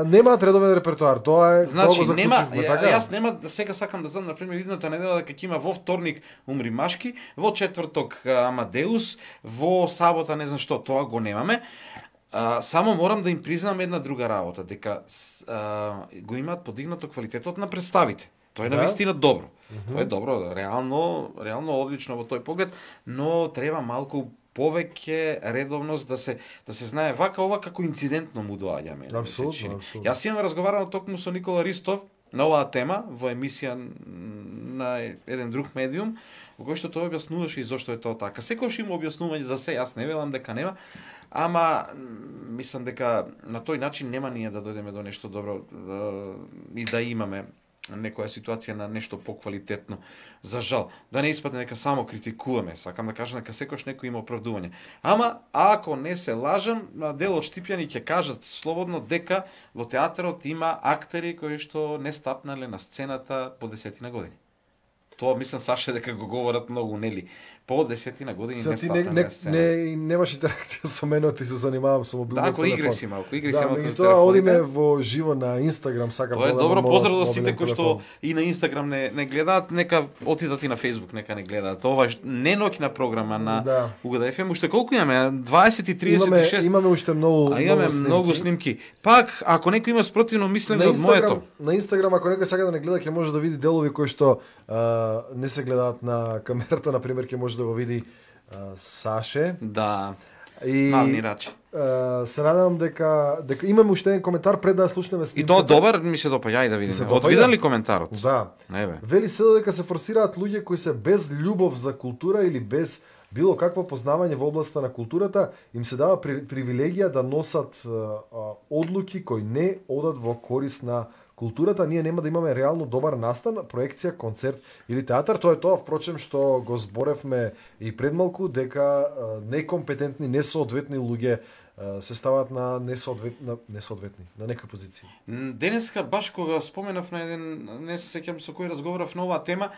Немаат редовен репертоар, тоа е значи, тоа го заклучивме, така? Јас нема, сега сакам да знам, например, идната недела дека ќе има во вторник Умри машки, во четврток Амадеус, во сабота не знам што, тоа го немаме. Само морам да им признам една друга работа, дека го имаат подигнато квалитетот на представите. Тоа е навистина добро. Тоа е добро, реално одлично во тој поглед, но треба малку повеќе редовност да се знае вака ова како инцидентно му доаѓа мене. Апсолутно. Јас имам разговарано токму со Никола Ристов на оваа тема во емисија на еден друг медиум, во кој што тој објаснуваше и зошто е тоа така. Секогаш има објаснување за се, јас не велам дека нема, ама мислам дека на тој начин нема ние да дојдеме до нешто добро и да имаме некоја ситуација на нешто поквалитетно. За жал, да не испадне дека само критикуваме, сакам да кажам дека секош некој има оправдување. Ама ако не се лажам, дел од штипјани ќе кажат слободно дека во театарот има актери кои што не стапнале на сцената по 10 години. Тоа мислам Саше дека го говорат многу, нели? По 10 години не стапнале на сцената. Немаш интеракција со мене, ти се занимавам со мобилниот телефон. Да, ако игри си малку, Да, тоа одиме во живо на Инстаграм, сакам тоа е добро, поздрав до сите кои што и на Инстаграм не гледаат, нека отидат и на Фејсбук, нека не гледаат. Ова е не ноќна програма на Угода ФМ, уште колку имаме? 20 и 36. Имаме уште многу имаме многу снимки. Пак, ако некој има спротивно мислење од моето. На Инстаграм, ако некој сака да не гледа, ќе може да види делови кои што не се гледаат на камерата, на пример, ќе може да го види Саше. Да. И мални рачи. Се надевам дека имаме уште еден коментар пред да слушнеме снимката. И тоа добар ми се допаѓа, ајде да видиме. Одвиден ли коментарот? Да. Вели се дека се форсираат луѓе кои се без љубов за култура или без било какво познавање во областа на културата, им се дава привилегија да носат одлуки кои не одат во корис на културата. Ние нема да имаме реално добар настан, проекција, концерт или театар. Тоа е тоа, впрочем, што го зборевме и предмалку, дека некомпетентни, несоодветни луѓе се стават на несоодветни, на некои позиции. Денеска баш кога споменав на еден, не се сеќам со кој разговарав на оваа тема,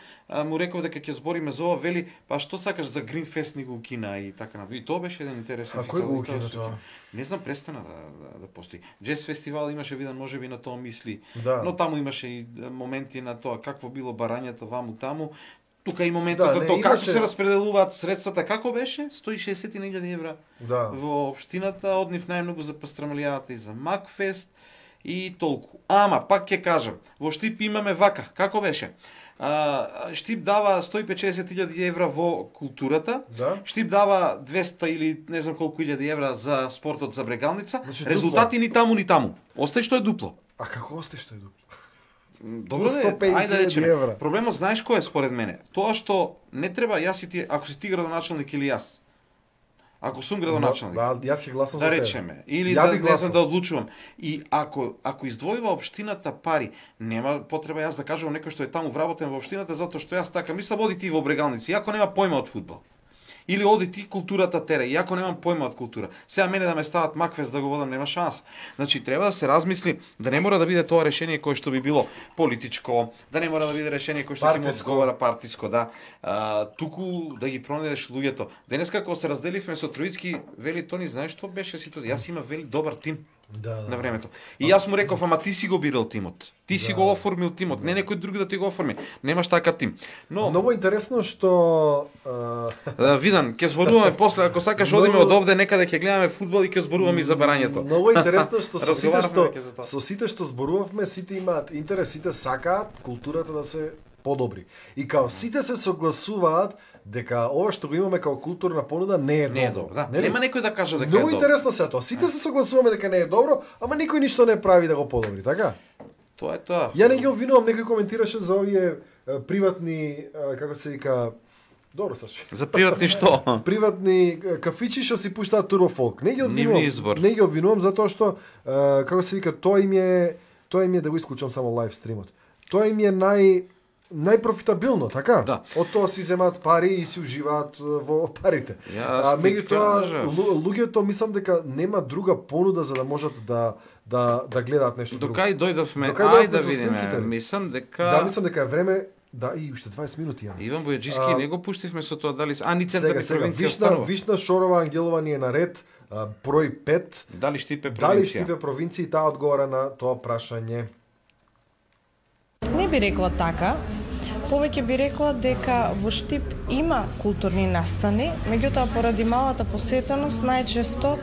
му реков дека ќе збориме за ова, вели, па што сакаш за Гринфест ни го укина и така на. И тоа беше еден интересен фестивал. А кој го укина тоа? Не знам, престана да постои. Джез фестивал имаше виден, можеби на тоа мисли, да. Но таму имаше и моменти на тоа какво било барањето ваму таму. Тука и моментот на тоа како се распределуваат средствата, како беше 160.000 евра во општината, од нив најмногу за пастрамалијата и за Макфест и толку. Ама пак ќе кажам, во Штип имаме вака, како беше? Штип дава 150.000 евра во културата, Штип дава 200 или не знам колку илјади евра за спортот за брегалница, резултати ни таму ни таму. Остај што е дупло. А како остај што е дупло? Добро, ајде да речеме. Проблемот знаеш кој е според мене? Тоа што не треба јас и ти, ако си ти градоначалник или јас. Ако сум градоначалник. Да, јас ќе гласам да за тебе. Речеме, или да не знам да одлучувам. И ако издвојува општината пари, нема потреба јас да кажам некој што е таму вработен во општината затоа што јас така мислам, оди ти во брегалници, иако нема појма од фудбал. Или оди ти културата тере, иако немам појма од култура. Сега мене да ме стават Макфест да го водам, нема шанса. Значи треба да се размисли да не мора да биде тоа решение кое што би било политичко, да не мора да биде решение кое што ќе му одговара партиско, да. Туку да ги пронедеш луѓето. Денеска кога се разделивме со Троицки, вели Тони, знаеш што беше ситуација? Јас имам вели добар тим. На времето. И јас му реков, ама ти си го бирал тимот. Ти си го оформил тимот, не некој друг да ти го оформи. Немаш така тим. Но многу интересно што Видан, ќе зборуваме после, ако сакаш одиме од овде некаде ќе гледаме фудбал и ќе зборуваме и за барањето. Многу интересно што со сите што зборувавме, сите имаат интерес, сите сакаат културата да се подобри. И као сите се согласуваат дека ова што го имаме како културна понуда не е добро. Да. Нема некој да каже дека е добро. Многу интересно се тоа. Сите се согласуваме дека не е добро, ама никој ништо не прави да го подобри, така? Тоа е тоа. Ја не ги обвинувам, некој коментираше за овие приватни, како се вика, добро Саши. За приватни што? Приватни кафичи што си пуштаат турбофолк. Не ги обвинувам затоа што како се вика, тоа им е да го исклучам само лайв стримот. Тоа им е најпрофитабилно, така? Да. Од тоа си земаат пари и си уживаат во парите. Меѓутоа, луѓето мислам дека нема друга понуда за да можат да гледаат нешто друго. Докај дојдовме, ајде да видиме. Мислам дека е време. Да, и уште 20 минути имаме. Иван Бојаджиски не го пуштивме со тоа дали ни центарни провинција останува. Вишна Шорова Ангелова ни е наред, број 5. Дали Штипе провинција? Дали Штипе провинција, таа одговара на тоа прашање. Не би рекла така. Повеќе би рекла дека во Штип има културни настани, меѓутоа поради малата посетеност најчесто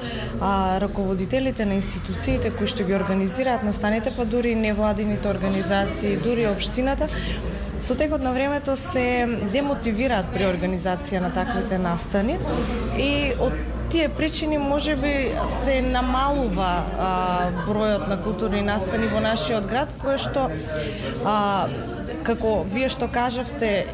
раководителите на институциите кои што ги организираат настаните, па дури невладините организации, дури општината, со текот на времето се демотивираат при организација на таквите настани и од тие причини можеби се намалува бројот на културни настани во нашиот град, кое што како вие што кажавте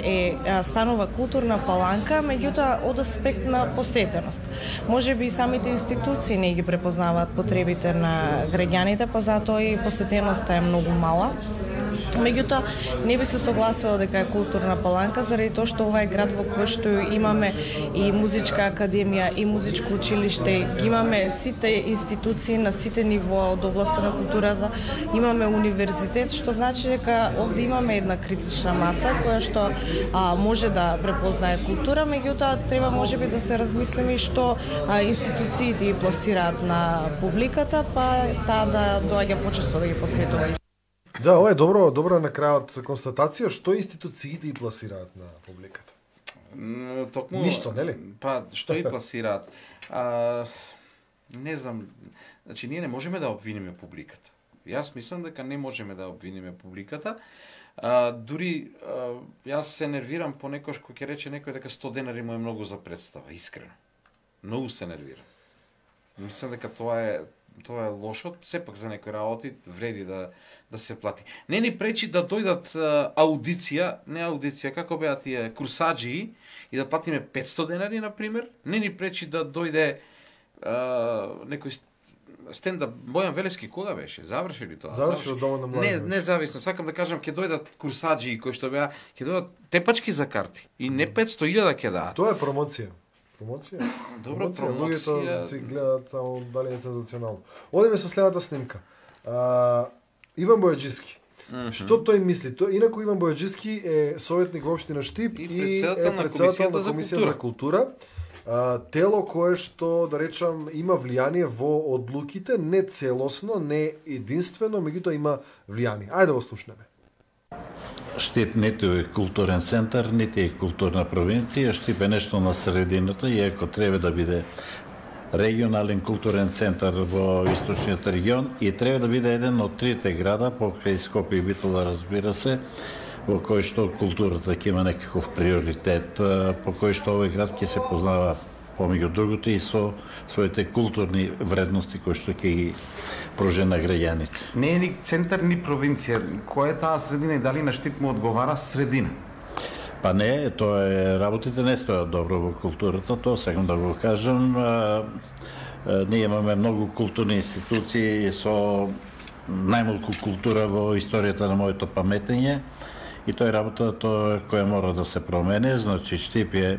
станува културна паланка, меѓутоа од аспект на посетеност. Можеби и самите институции не ги препознаваат потребите на граѓаните, па затоа и посетеноста е многу мала. Меѓутоа, не би се согласила дека е културна паланка, заради тоа што ова е град во кој што имаме и музичка академија, и музичко училиште, ги имаме сите институции на сите нивоа од областа на културата, имаме универзитет, што значи дека овде имаме една критична маса која што може да препознае култура, меѓутоа треба можеби да се размислиме и што институциите ги пласираат на публиката, па таа да доаѓа почесто да ги посветува. Да, ова е добро на крајот констатација, што институциите и пласираат на публиката. Токму ништо, нели? Па што и пласираат? Не знам, значи ние не можеме да обвиниме публиката. Јас мислам дека не можеме да обвиниме публиката. Дури јас се нервирам понекогаш кога ќе рече некој дека 100 денари му е многу за представа, искрено. Многу се нервирам. Мислам дека тоа е лошо, сепак за некои работи вреди да се плати. Не ни пречи да дојдат аудиција, како беа тие курсаджии и да платиме 500 денари, например. Не ни пречи да дојде некој стендап. Бојан Велески кога беше? Заврши ли тоа? Заврши од дома на млади. Независно. Сакам да кажам, ќе дојдат курсаджии кои што беа, ќе дојдат тепачки за карти и не 500.000 ќе дадат. Тоа е промоција. Добро, промоција. Луѓето си гледаат само дали е сензационално. Одиме со следната снимка. Иван Бојаджиски. Што тој мисли? Инаку Иван Бојаджиски е советник во општина Штип и е председател на Комисија за култура. Тело кое што, да речам, има влијание во одлуките, не целосно, не единствено, меѓутоа има влијание. Ајде да го слушнеме. Штип ниту е културен центар, нити е културна провинција, Штип е нешто на средината, иако треба да биде регионален културен центар во источниот регион и треба да биде еден од трите града, покрај Скопје и Битола, разбира се, во кој што културата ќе има некаков приоритет, по кој што овој град ќе се познава помеѓу другото и со своите културни вредности кои што ќе ги пружи на граѓаните. Не е ни центар ни провинција. Која е таа средина и дали на Штип му одговара средина? Па не, тоа е, работите не стојат добро во културата, тоа сакам да го кажам. Ние имаме многу културни институции со најмалку култура во историјата на моето паметење и тоа е работа која мора да се промени. Значи Штип е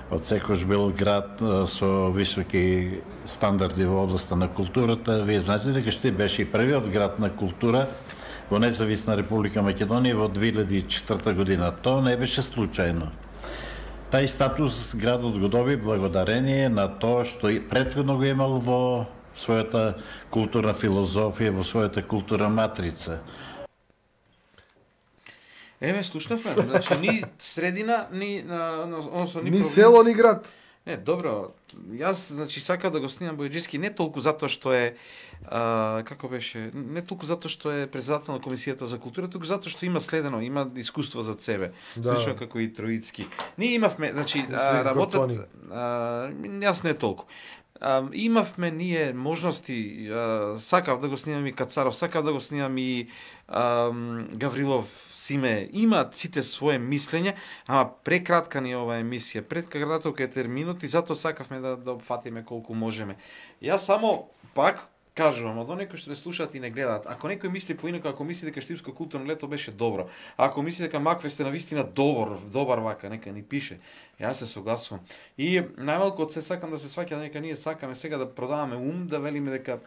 од секојаш бил град со високи стандарди во областа на културата. Вие знаете дека Штип беше и првиот град на култура во независна Република Македонија во 2004 година. Тоа не беше случајно. Тај статус градот го доби благодарение на тоа што и претходно го имал во својата културна филозофија, во својата културна матрица. Еве, слушнавме, значи ни средина, ни село, ни град. Не, добро. Јас, значи, сакам да го снимам Бојаджиски не толку затоа што е како беше, не толку затоа што е председател на Комисијата за култура, туку затоа што има следено, има искуство зад себе, слично како и Троицки. Ние имавме, значи, работат јас не толку. Имавме ние можности, сакав да го снимам и Кацаров, сакав да го снимам и Гаврилов, Симе, имаат сите своje мислење, ама прекратка ни е оваа емисија, прекраток е терминот и затоа сакавме да опфатиме колку можеме. Јас само пак кажувам, од оние кои што ме слушаат и не гледаат, ако некој мисли поинаку, ако мисли дека Штипско културно лето беше добро, ако мисли дека Маквест е навистина добар вака, нека ни пише. Јас се согласувам. И најмалку од се сакам да се сваќа дека ние сакаме сега да продаваме ум, да велиме дека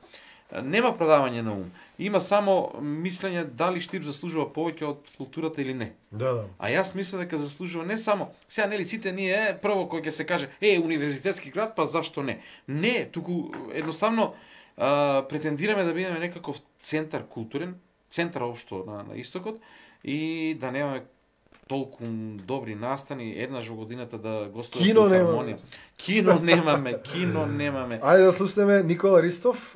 нема продавање на ум. Има само мислење дали Штип заслужува повеќе од културата или не. Да. А јас мислам дека заслужува не само. Сега нели сите ние прво кој ќе се каже универзитетски град, па зашто не? Не, туку едноставно претендираме да бидеме некаков центар културен, центар општо на истокот и да немаме толку добри настани, еднаш во годината да гостуваме во Хармонија. Кино немаме. Ајде да слушнеме Никола Ристов,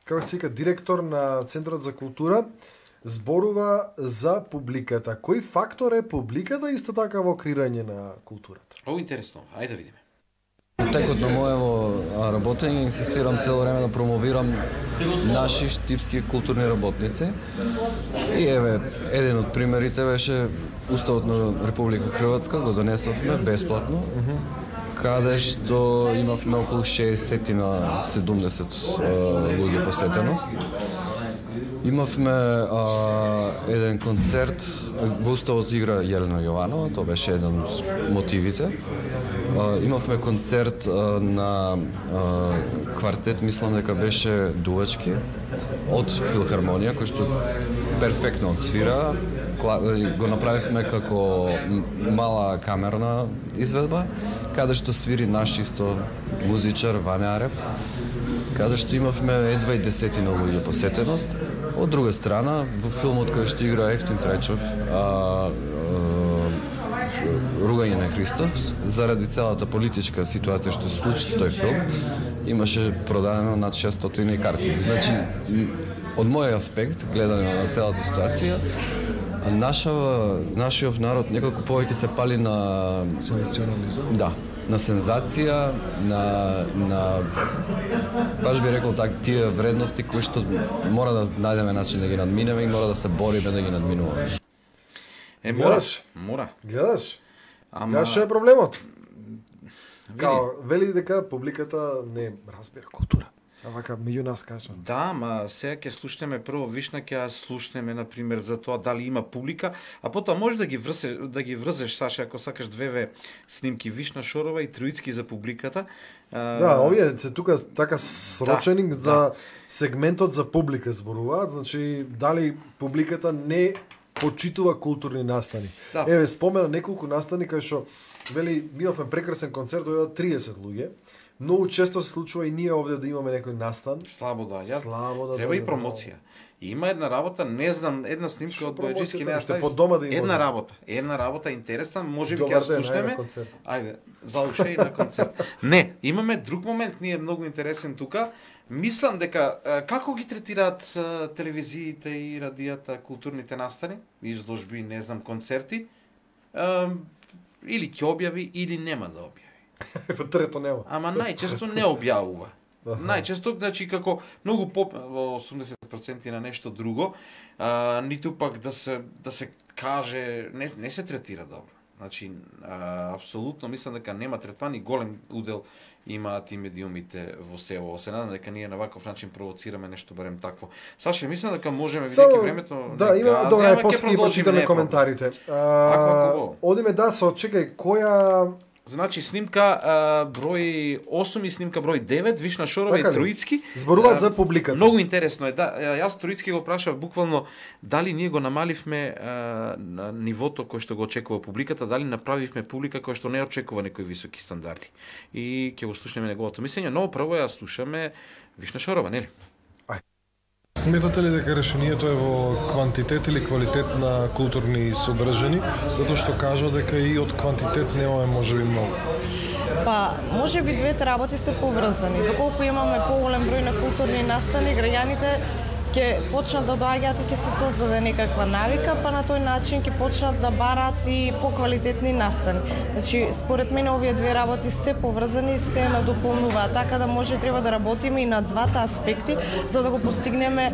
како се вика, директор на Центарот за култура, зборува за публиката. Кој фактор е публиката исто така во креирање на културата? О, интересно. Ајде да видиме. Во текот на моево работење инсистирам цело време да промовирам наши штипски културни работници. И еве, еден од примерите беше Уставот на Република Хрватска, го донесовме бесплатно, каде што имавме околу 60 на 70 луѓе посетеност. Имавме еден концерт, во уставот игра Јелена Јованова, тоа беше еден од мотивите. Имавме концерт на квартет, мислам дека беше дувачки, од филхармонија, кој што перфектно отсвира. Го направивме како мала камерна изведба, каде што свири наш исто музичар Ване Арев, каде што имавме едва и 10 луѓе посетеност. Од друга страна, во филмот кој што игра Ефтим Трајчов, Ругање на Христов, заради целата политичка ситуација што се случи со тој филм, имаше продадено над 600 карти. Значи, од мој аспект, гледане на целата ситуација, нашиот народ некако повеќе се пали на сензационализм. Да, на сензација, на баш би рекол так, тие вредности кои што мора да најдеме начин да ги надминеме и мора да се бориме да ги надминуваме. Мора. Гледаш? Ама што е проблемот? Вели дека публиката не разбира култура. Сега вака меѓу нас кажа. Да, ма сега ќе слушнеме прво Вишна, ќе слушнеме на пример за тоа дали има публика, а потоа може да ги врзеш Саша ако сакаш две снимки Вишна Шорова и Троицки за публиката. Да, овие се тука така срочени за сегментот за публика зборуваат, значи дали публиката не почитува културни настани. Да. Еве спомена неколку настани кај што вели ми имавме прекрасен концерт, дојдоа 30 луѓе. Многу често се случува и ние овде да имаме некој настан. Слабо да, треба и промоција. Има една работа, не знам, една снимка од Бојаджиски не ја ставиш. Една работа интересна, можеби ќе ја слушнеме. Ајде, за ушеј на концерт. Не, имаме друг момент, ние многу интересен тука. Мислам дека како ги третираат телевизиите и радијата културните настани, изложби, не знам, концерти, или ќе објави или нема да објави. Трето нема. Ама најчесто не објавува. Најчесто, значи како многу во 80% на нешто друго, ниту пак да се каже, не се третира добро. Значи апсолутно мислам дека нема третман и голем удел имаат и медиумите во село. Се надам дека ние на ваков начин провоцираме нешто барем такво. Саша, мислам дека можеме бидејќи времето. Да, има добра, после ги прочитаме коментарите. Одиме да се чекај која. Значи снимка број 8 и снимка број 9, Вишна Шорова и Троицки. Зборуваат за публиката. Многу интересно е, да. Јас Троицки го прашав буквално дали ние го намаливме на нивото кој што го очекува публиката, дали направивме публика кој што не очекува некои високи стандарди. И ќе го слушнеме неговото мислење, но прво ја слушаме Вишна Шорова, нели? Сметате ли дека решението е во квантитет или квалитет на културни содржини, затоа што кажа дека и од квантитет немаме можеби многу? Па, можеби двете работи се поврзани. Доколку имаме поголем број на културни настани, граѓаните ќе почнат да доаѓаат и ќе се создаде некаква навика, па на тој начин ќе почнат да бараат и поквалитетни настани. Значи, според мене овие две работи се поврзани и се надополнуваат, така да може треба да работиме и на двата аспекти за да го постигнеме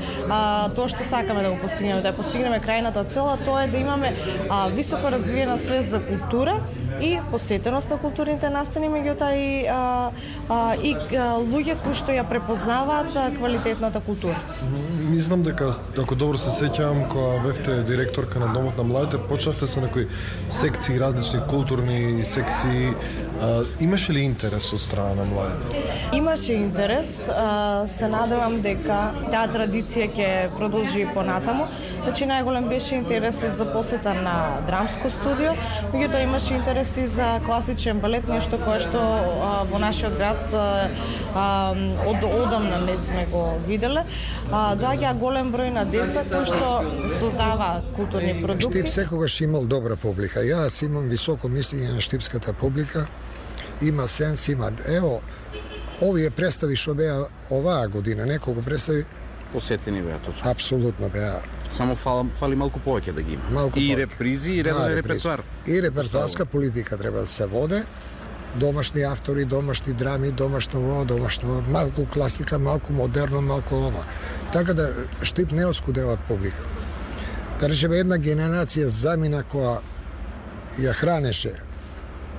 тоа што сакаме да го постигнеме, да ја постигнеме крајната цела, тоа е да имаме високо развиена свест за култура и посетеност на културните настани, меѓутоа и луѓе кои што ја препознаваат квалитетната култура. Мислам дека, ако добро се сеќавам, кога бевте директорка на Домот на младите, почнавте со некои секции, различни културни секции. Имаше ли интерес од страна на младите? Имаше интерес. Се надевам дека таа традиција ќе продолжи и понатаму. Значи, најголем беше интересот за посета на драмско студио, меѓутоа имаше интерес и за класичен балет, нешто кое што во нашиот град од одамна не сме го виделе. Доаѓа голем број на деца кои што создаваат културни продукти. Штип секогаш имал добра публика. Јас имам високо мислење на штипската публика. Има сенс, има. Ево, овие представи што беа оваа година, неколку представи посетени беа точно. Апсолутно беа. Само фали малку повеќе да ги има. Малку и повеќе. репризи и редовен репертоар. И репертоарска политика треба да се воде. Домашни автори, домашни драми, домашно, малку класика, малку модерно, малку ова. Така да Штип не оскудеват публика. Да речеме една генерација замина која ја хранеше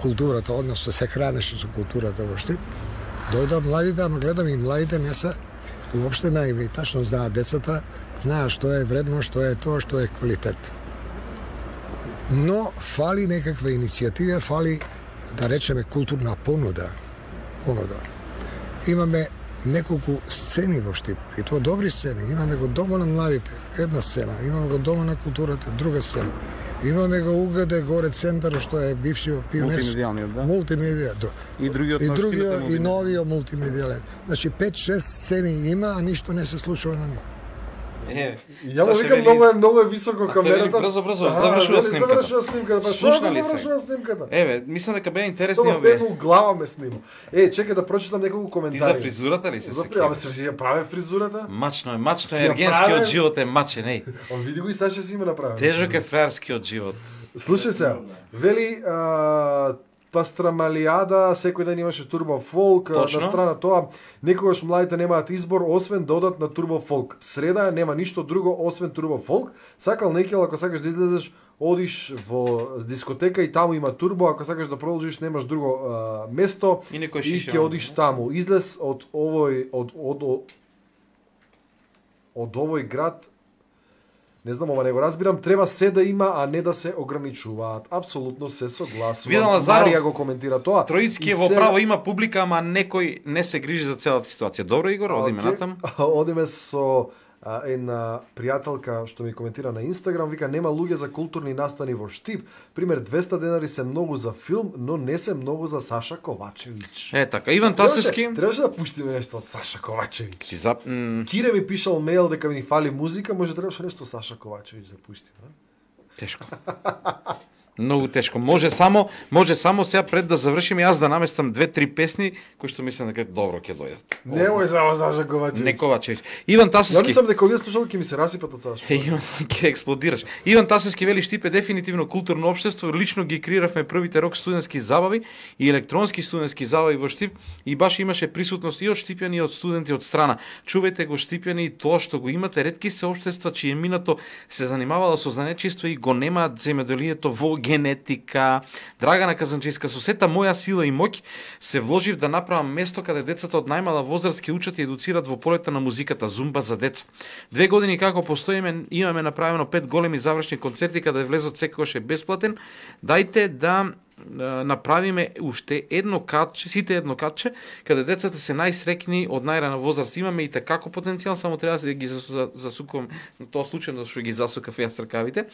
културата, односно се хранеше со културата во Штип. Дојдоа младите, ама гледам и младите не се уопште наивни, тачно знаат децата знаат што е вредно, што е тоа, што е квалитет. Но фали некаква иницијатива, фали, да речеме, културна понуда. Имаме неколку сцени во Штип, и тоа добри сцени. Имаме го Дома на младите, една сцена. Имаме го Дома на културата, друга сцена. Имаме го УГД горе центар, што е бившиот пионерски. Мултимедија, да. И другиот и новиот мултимедијален. Значи 5-6 сцени има, а ништо не се случува на нив. Ја му викам, многу е високо камерата. Брзо, завршува снимката. Слушнали снимката? Мислам дека беа интересни овие. Тоа беа глава ме снима. Чекај да прочитам неколку коментари. Ти за фризурата ли се сеќаваш? Ама се ја праве фризурата? Мачно е, ергенскиот живот е мачен, еј. Види го и Саша си има направен. Тежок е фраерскиот живот. Слушај се, вели Пастрамалијада, секој ден имаше турбо фолк, на страна тоа, некогаш младите немаат избор освен да одат на турбо фолк. Среда нема ништо друго освен турбо фолк. Сакал некел, ако сакаш да излезеш, одиш во дискотека и таму има турбо, ако сакаш да продолжиш, немаш друго место и ќе одиш таму. Излез од овој град. Не знам, ова не го разбирам, треба се да има, а не да се ограничуваат. Апсолутно се согласувам. Видам Лазаров, Марија го коментира тоа. Троицки е во право, има публика, ама некој не се грижи за целата ситуација. Добро, Игор, одиме натам. Одиме со една пријателка што ми коментира на Инстаграм, вика нема луѓе за културни настани во Штип. Пример 200 денари се многу за филм, но не се многу за Саша Ковачевиќ. Така, Иван Тасевски. Требаше да пуштиме нешто од Саша Ковачевиќ. Кире ми пишал мејл дека ми фали музика, може требаше нешто Саша Ковачевиќ да пуштиме. Тешко. Многу тешко. Може само сега пред да завршиме јас да наместам 2-3 песни кои што мислам дека добро ќе дојдат. Немој само Саша Ковачевиќ. Не Ковачевиќ. Иван Тасевски. Ја мислам дека овие слушалки ќе ми се расипат од Саша. Ќе експлодираш. Иван Тасевски вели Штип е дефинитивно културно општество. Лично ги креиравме првите рок студентски забави и електронски студентски забави во Штип и баш имаше присутност и од штипјани и од студенти од страна. Чувајте го штипјани и тоа што го имате, ретки се општества чие минато се занимавало со занечиство и го немаат земјоделието во генетика. Драгана Казанчиска, со сета моја сила и моќ се вложив да направам место каде децата од најмала возраст ќе учат и едуцират во полета на музиката Зумба за деца. 2 години како постоиме, имаме направено 5 големи завршни концерти каде влезот секогаш е бесплатен. Дајте да направиме уште едно катче, каде децата се најсрекни од најрана возраст. Имаме и како потенцијал, само треба да ги засукувам на тоа случајно што ги засукав јас ракавите.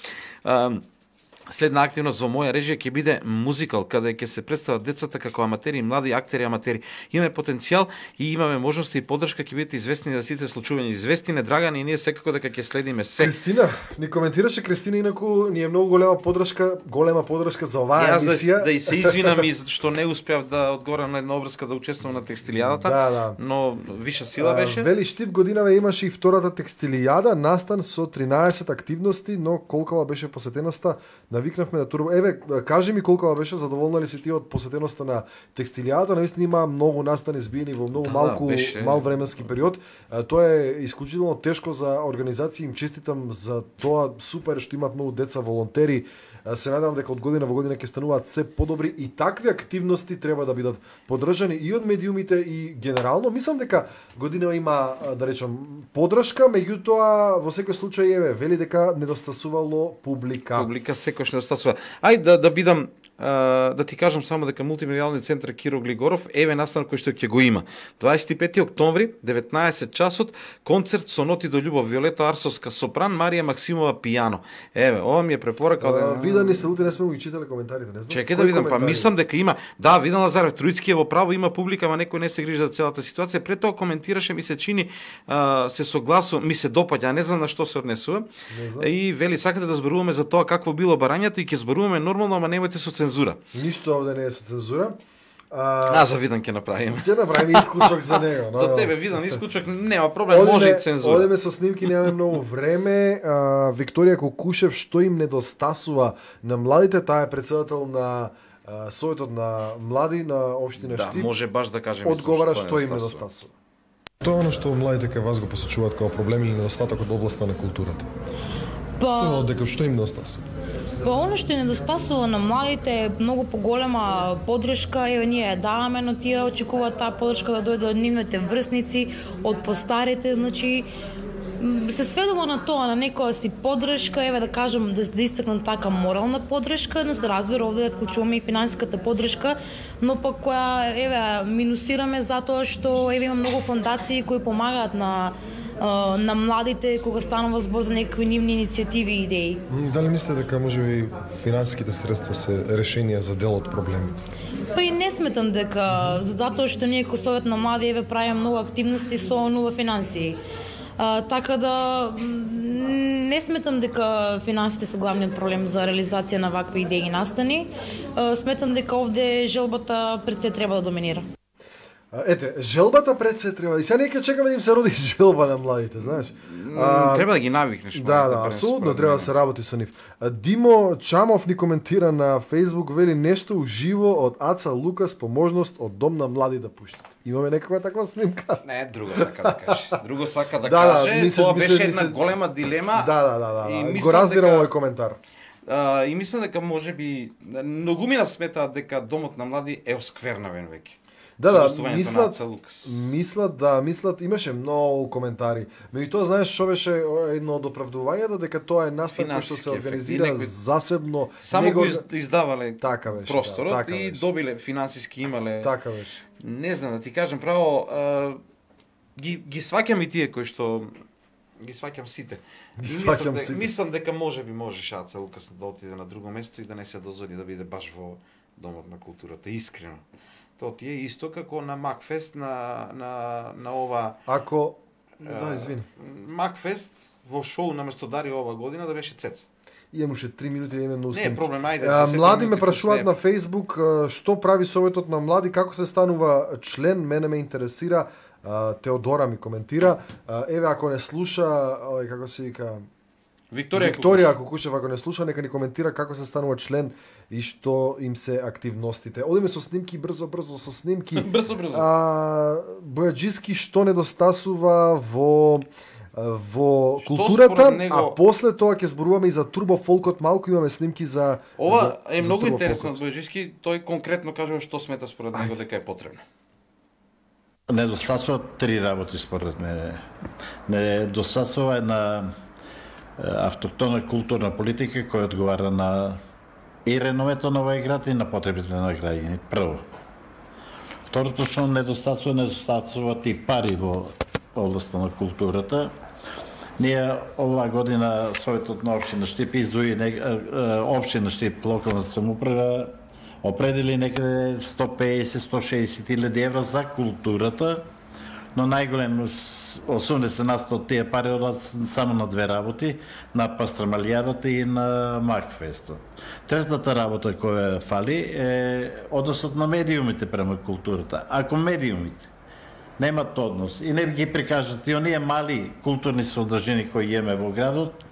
Следна активност во моја режија ќе биде музикал, каде ќе се представат децата како аматери, млади актери, аматери. Имаме потенцијал и имаме можности и поддршка, ќе бидете известни за сите случувања. Известни не Драгани и ние секако дека ќе следиме се. Кристина, ни коментираше Кристина, инаку ни е многу голема поддршка за оваа емисија. Да и се извинам и што не успеав да одговорам на една обврска да учествувам на текстилијадата, но виша сила беше. Вели Штип годинава имаше и втората текстилијада, настан со 13 активности, но колкава беше посетеноста? Навикнавме на турбо. Кажи ми колкава беше, задоволна ли си ти од посетеноста на текстилијата? Наистина има многу настани збиени во многу мал временски период. Тоа е исклучително тешко за организација, им честитам за тоа, супер што имаат многу деца волонтери. Се надевам дека од година во година ќе стануваат се подобри и такви активности треба да бидат поддржани и од медиумите и генерално. Мислам дека година има, да речам, поддршка, меѓутоа во секој случај вели дека недостасувало публика. Публика секојаш недостасува. Ајде да бидам да ти кажам само дека мултимедијалниот центар Киро Глигоров настан кој што ќе го има. 25 октомври, 19 часот, концерт со ноти до љубов, Виолета Арсовска сопран, Марија Максимова пијано. Ова ми е препорака. Видани се, луте не сме го читале коментарите, не знам. Чекај да видам, мислам дека има. Да, видам Лазарев Троицки е во право, има публика, ама некој не се грижи за целата ситуација. Пред тоа коментираше, ми се чини, се согласува, ми се допаѓа, не знам на што се однесува. И вели сакате да зборуваме за тоа какво било барањето и ќе зборуваме нормално, ама немојте со цензура. Ништо овде не е со цензура. За Видан ќе направиме. Ќе направиме исклучок за него. За тебе Видан исклучок нема проблем, може и цензура. Одеме со снимки, немаме многу време. Викторија Кокушев, што им недостасува на младите, таа е председател на Советот на млади на општина Штип. Да, може баш да кажеме одговара што им недостасува. Тоа е она што младите кај вас го посочуваат како проблем или недостаток од областа на културата. Што им недостасува? Оно што недостасува на младите е многу поголема поддршка, ние даваме, но тие очекуваат таа поддршка да дојде од нивните врсници, од постарите, значи се сведува на тоа, на некоја си поддршка, еве да кажем, да истакнам така морална поддршка, но се разбира овде да вклучуваме и финансиската поддршка, но пак која еве минусираме затоа што еве има многу фондации кои помагаат на младите кога станува збор за некакви нивни иницијативи и идеи. Дали мислите дека можеби финансиските средства се решение за дел од проблемите? Па и не сметам дека затоа што ние како Совет на млади еве правиме многу активности со нула финансии. Така да не сметам дека финансите се главниот проблем за реализација на вакви идеи и настани. Сметам дека овде желбата пред се треба да доминира. Ете, желбата пред се треба. И сега нека чекаме да им се роди желба на младите, знаеш. Треба да ги навикнеш. Да, апсолутно треба да се работи со нив. Димо Чамов ни коментира на Facebook, вели нешто уживо од Аца Лукас по можност од Дом на млади да пуштат. Имаме некаква таква снимка? Не, друго сака да каже. Друго сака да каже, тоа беше една голема дилема. Да. Го разбирам овој коментар. И мислам дека можеби многумина сметаат дека Домот на млади е осквернавен веќе. Да, мислат, имаше многу коментари. Меѓутоа, знаеш што беше едно од оправдувањата, дека тоа е настан кој што се организира засебно. Само го издавале просторот и добиле, финансиски имале. Така беше. Не знам, да ти кажем право, ги сваќам и тие кои што ги сваќам сите. Мислам дека можеше Аца Лукас да отиде на друго место и да не се дозволи да биде баш во Домот на културата, искрено. Тоа ти е исто како на Макфест на ова. Ако извини. Макфест во шоу наместо Дари ова година да беше Цеца. Имаше 3 минути да именно снимки. Не проблем, ајде. Млади ме прашуваат на Facebook што прави Советот на млади, како се станува член, мене ме интересира. Теодора ми коментира. Еве ако не слуша, како се вика, Викторија Кукушева, ако не слуша, нека ни коментира како се станува член и што им се активностите. Одиме со снимки, брзо со снимки. брзо. Бојаджиски што недостасува во културата, него... а после тоа ќе зборуваме и за турбо фолкот, малку имаме снимки за ова е многу интересно. Бојаджиски тој конкретно кажува што смета според него дека е потребно. Недостасува 3 работи според мене. Недостасува една автохтона културна политика која одговара на и реномето на овој град и на потребите на граѓаните. Прво. Второто што недостасуваат и пари во областта на културата. Ние оваа година Советот на општина Штип издвои општина Штип, локалната самоуправа определи некаде 150-160 илјади евра за културата, но најголем 80% од тие пари одат само на две работи, на Пастрамалијадата и на Макфестот. Третата работа која фали е односот на медиумите према културата. Ако медиумите немат однос и не ги прикажат и оние мали културни содржини кои имаме во градот,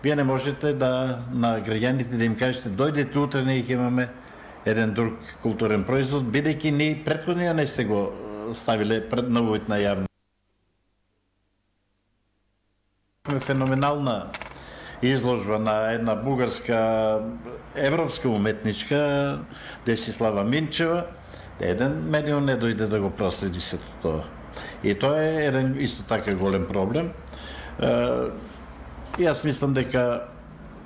вие не можете да на граѓаните да им кажете дојдете утре, ние ќе имаме еден друг културен производ, бидејќи ние претходно не сте го ставиле пред новојот на јавно. Феноменална изложба на една бугарска европска уметничка Десислава Минчева. Еден медиум не дојде да го проследи сето тоа. И тоа е еден исто така голем проблем. И јас мислам дека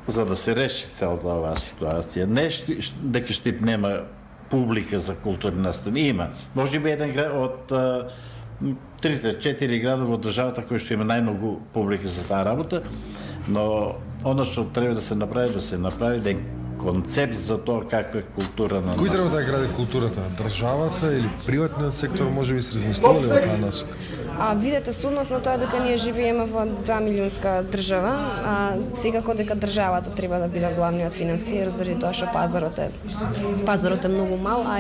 за да се реши целата оваа ситуација, не дека Штип нема публика за културни настани, има. Може би еден од 3-4 града во државата кој што има најмногу публика за таа работа, но она што треба да се направи еден концепт за тоа каква култура на нас. Кој треба да гради културата? Државата или приватниот сектор, може би се размислувале во таа насока? Видете, судност на тоа дека ние живееме во 2 милионска држава, секако дека државата треба да биде главниот финансиер, заради тоа што пазарот е многу мал, а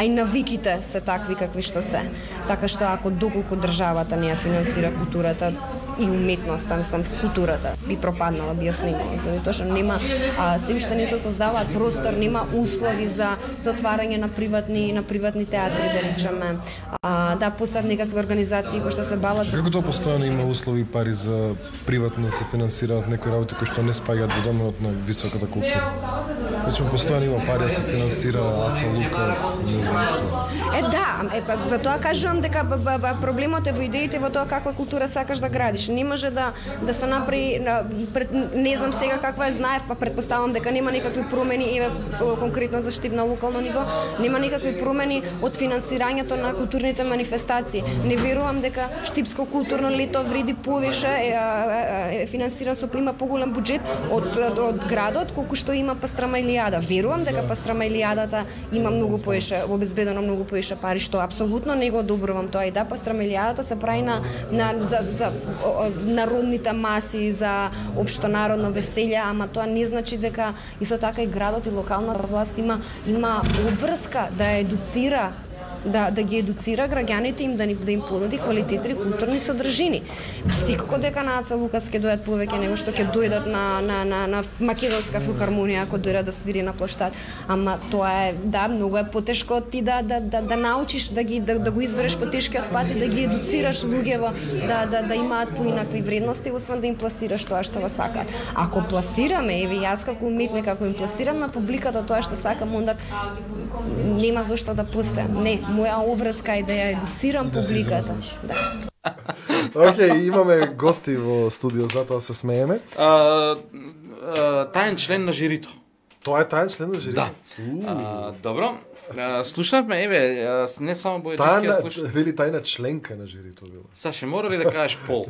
и навиките се такви какви што се. Така што ако доколку државата не ја финансира културата и уметноста, мислам културата би пропаднала, би ја снимала, заради тоа што нема се уште не се создаваат простор, нема услови за отварање на приватни театри, да речеме, да постојат некакви организации кои што се бават. Како тоа постојано има услови и пари за приватно да се финансираат некои работи кои што не спаѓаат во доменот на високата култура? Речем, постојано има пари да се финансира Аца Лукас, не знам што. За тоа кажувам дека проблемот е во идеите, во тоа каква култура сакаш да градиш. Значи не може да се направи не знам сега каква е знаев, па претпоставам дека нема никакви промени, еве конкретно за Штип на локално ниво, нема никакви промени од финансирањето на културните манифестации. Не верувам дека Штипско културно лето вреди повише, финансиран со има поголем буџет од градот колку што има Пастрама Илијада. Верувам дека Пастрама Илијадата има многу повише, обезбедено многу повише пари, што апсолутно не го одобрувам тоа. И да, Пастрама Илијадата се прави за народните маси, за општонародно веселје, ама тоа не значи дека исто така и градот и локалната власт има обврска да едуцира, да ги едуцира граѓаните им, да им понуди квалитетни културни содржини. Секако дека на Аца Лукас ќе дојдат повеќе него што ќе дојдат на македонска филхармонија ако дојдат да свири на площад. Ама тоа е, да, многу е потешко ти да научиш да го избереш по тешкиот пат и да ги едуцираш луѓево да имаат поинакви вредности, освен да им пласираш тоа што го сакаат. Ако пласираме, еве јас како уметник, ако им пласирам на публиката тоа што сакам, онда нема зошто да постојам. Не, моја обврска е да ја едуцирам публиката. Да. Океј, имаме гости во студио, затоа се смееме. Таен член на жирито. Тоа е таен член на жирито? Да. Добро. Слушнавме, еве, не само Бојачевски, ја слушнав. Вели тајна членка на жирито била. Саше, мора ли да кажеш пол?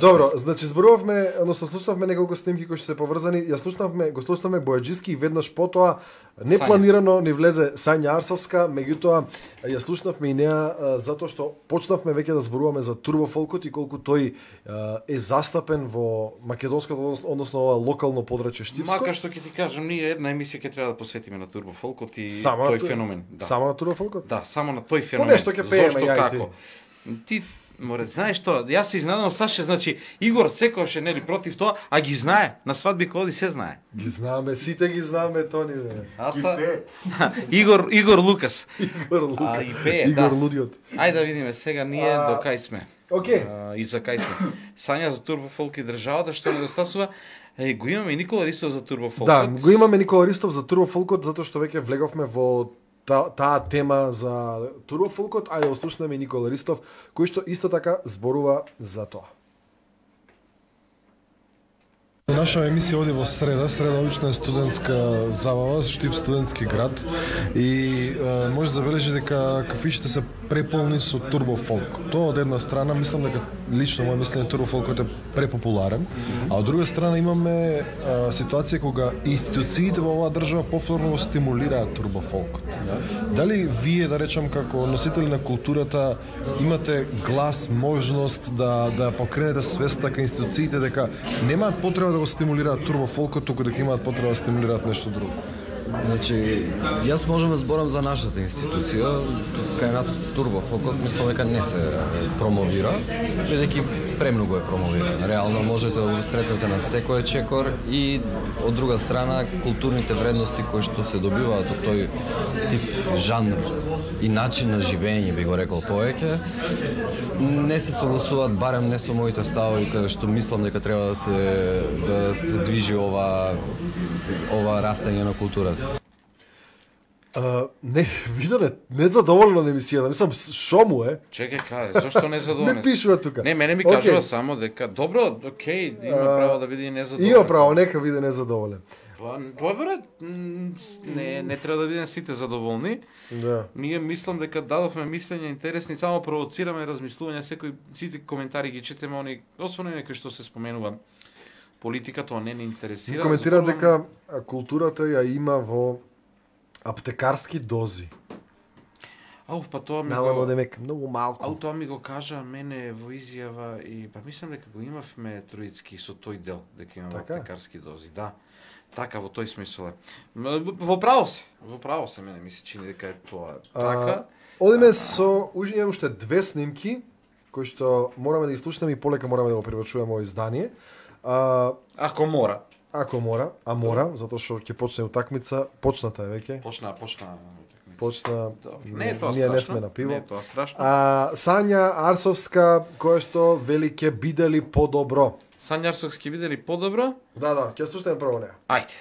Добро, значи зборувавме, односно слушнавме неколку снимки кои што се поврзани. Го слушнавме Бојачевски и веднаш потоа непланирано ни влезе Сања Арсовска, меѓутоа ја слушнавме и неа затоа што почнавме веќе да зборуваме за турбофолкот и колку тој е застапен во македонското, односно ова локално подрачје Штипско. Макар што ќе ти кажам, ние една емисија ќе треба да посветиме на турбофолкот и тој феномен. Само на турбофолкот? Да, само на тој феномен. По нешто ќе пееме, зошто, како? Ти море, знаеш што, јас се изненадам, Саше, значи Игор секогаш е нели против тоа, а ги знае, на свадби коди се знае. Ги знаеме, сите ги знаеме тони. Аца Игор Лукас. Игор Лукас. И пее, Игор Лудиот. Ајде да видиме сега ние до кај сме. Океј. И за кај сме. Сања за турбофолк и државата што недостасува. Го имаме и Никола Ристов за турбофолкот. Да, го имаме Никола Ристов за турбофолкот затоа што веќе влеговме во таа тема за турбофолкот. Ајде да слушнеме Никола Ристов, кој што исто така зборува за тоа. Наша емисија оди во среда. Среда обично е студентска забава, Штип студентски град и може да забележи дека кафишите се преполни со турбофолк. Тоа од една страна, мислам дека лично моје мислење турбофолкот е препопуларен, а од друга страна имаме ситуација кога институциите во оваа држава повторно го стимулираат турбофолк. Дали вие, да речам, како носители на културата, имате глас, можност да покренете свеста кај институциите дека немаат потреба да го стимулираат турбофолкот, туку дека имаат потреба да стимулираат нешто друго? Значи, јас можам да зборам за нашата институција. Кај нас турбофолкот мислам дека не се промовира, бидејќи премногу е промовиран. Реално можете да го сретнете на секој чекор и од друга страна културните вредности кои што се добиваат од тој тип жанр и начин на живење, би го рекол повеќе, не се согласуваат, барем не со моите ставови каде што мислам дека треба да се движи ова растење на културата. Не, виделе, не задоволено на емисијата. Мислам, шо му е? Чекај, каде, зошто не задоволен? Не пишува тука. Не, мене ми кажува само дека добро, окей, има право да биде незадоволен. Има право, нека биде незадоволен. Добре, не треба да бидеме сите задоволни. Да. Ние мислам дека дадовме мислења интересни, само провоцираме размислување, сите коментари ги четеме, они, освен некои што се споменува политика, тоа не интересира. Коментира дека културата ја има во аптекарски дози. Па тоа ми го демек многу малку. Тоа ми го кажа мене во изјава и па мислам дека го имавме Троицки со тој дел дека имаме аптекарски дози. Да. Така во тој смисол е. Во право се мене ми се чини дека е тоа така. Одиме со имаме уште две снимки кои што мораме да ги слушнеме и полека мораме да го преврачуваме во издание. Ако мора, затоа што ќе почне утакмица, почната е веќе. Почна. Не е тоа страшно. Ние не сме на пиво. Не е тоа страшно. Сања Арсовска, која што вели ќе биде ли подобро? Сања Арсовска ќе биде ли подобро? Да, ќе слушнеме прво неа. Ајде.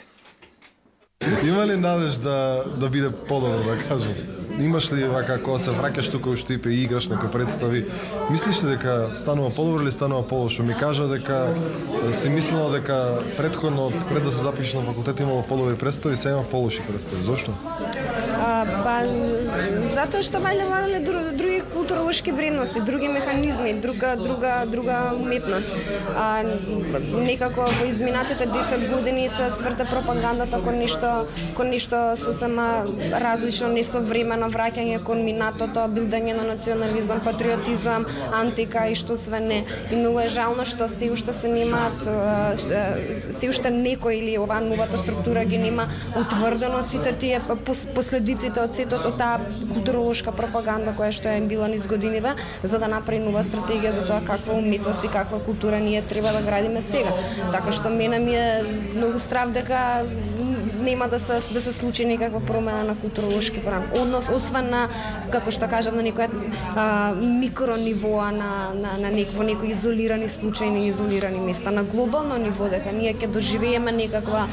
Има ли надеж да биде подобро, да кажам? Имаш ли вака кога се враќаш тука у Штип и играш некои представи, мислиш ли дека станува подобро или станува полошо? Ми кажа дека си мислела дека претходно пред да се запишеш на факултет имало подобри представи, сега има полоши представи. Зошто? Затоа што валеле други културолошки вредности, други механизми, друга уметност. Некако во изминатите 10 години се сврта пропагандата кон нешто сосема различно, несовремено враќање кон минатото, билдање на национализам, патриотизам, антика и што све не. И многу е жално што се уште се немаат, се уште некој или оваа новата структура ги нема утврдено сите тие последиците од сето од таа културолошка пропаганда која што е била низ годиниве, за да направи нова стратегија за тоа каква уметност и каква култура ние треба да градиме сега. Така што мене ми е многу страв дека нема да се случи некаква промена на културолошки план. Однос освен на, како што кажам, на некој микро нивоа на некои изолирани случаи, изолирани места. На глобално ниво дека ние ќе доживееме некаква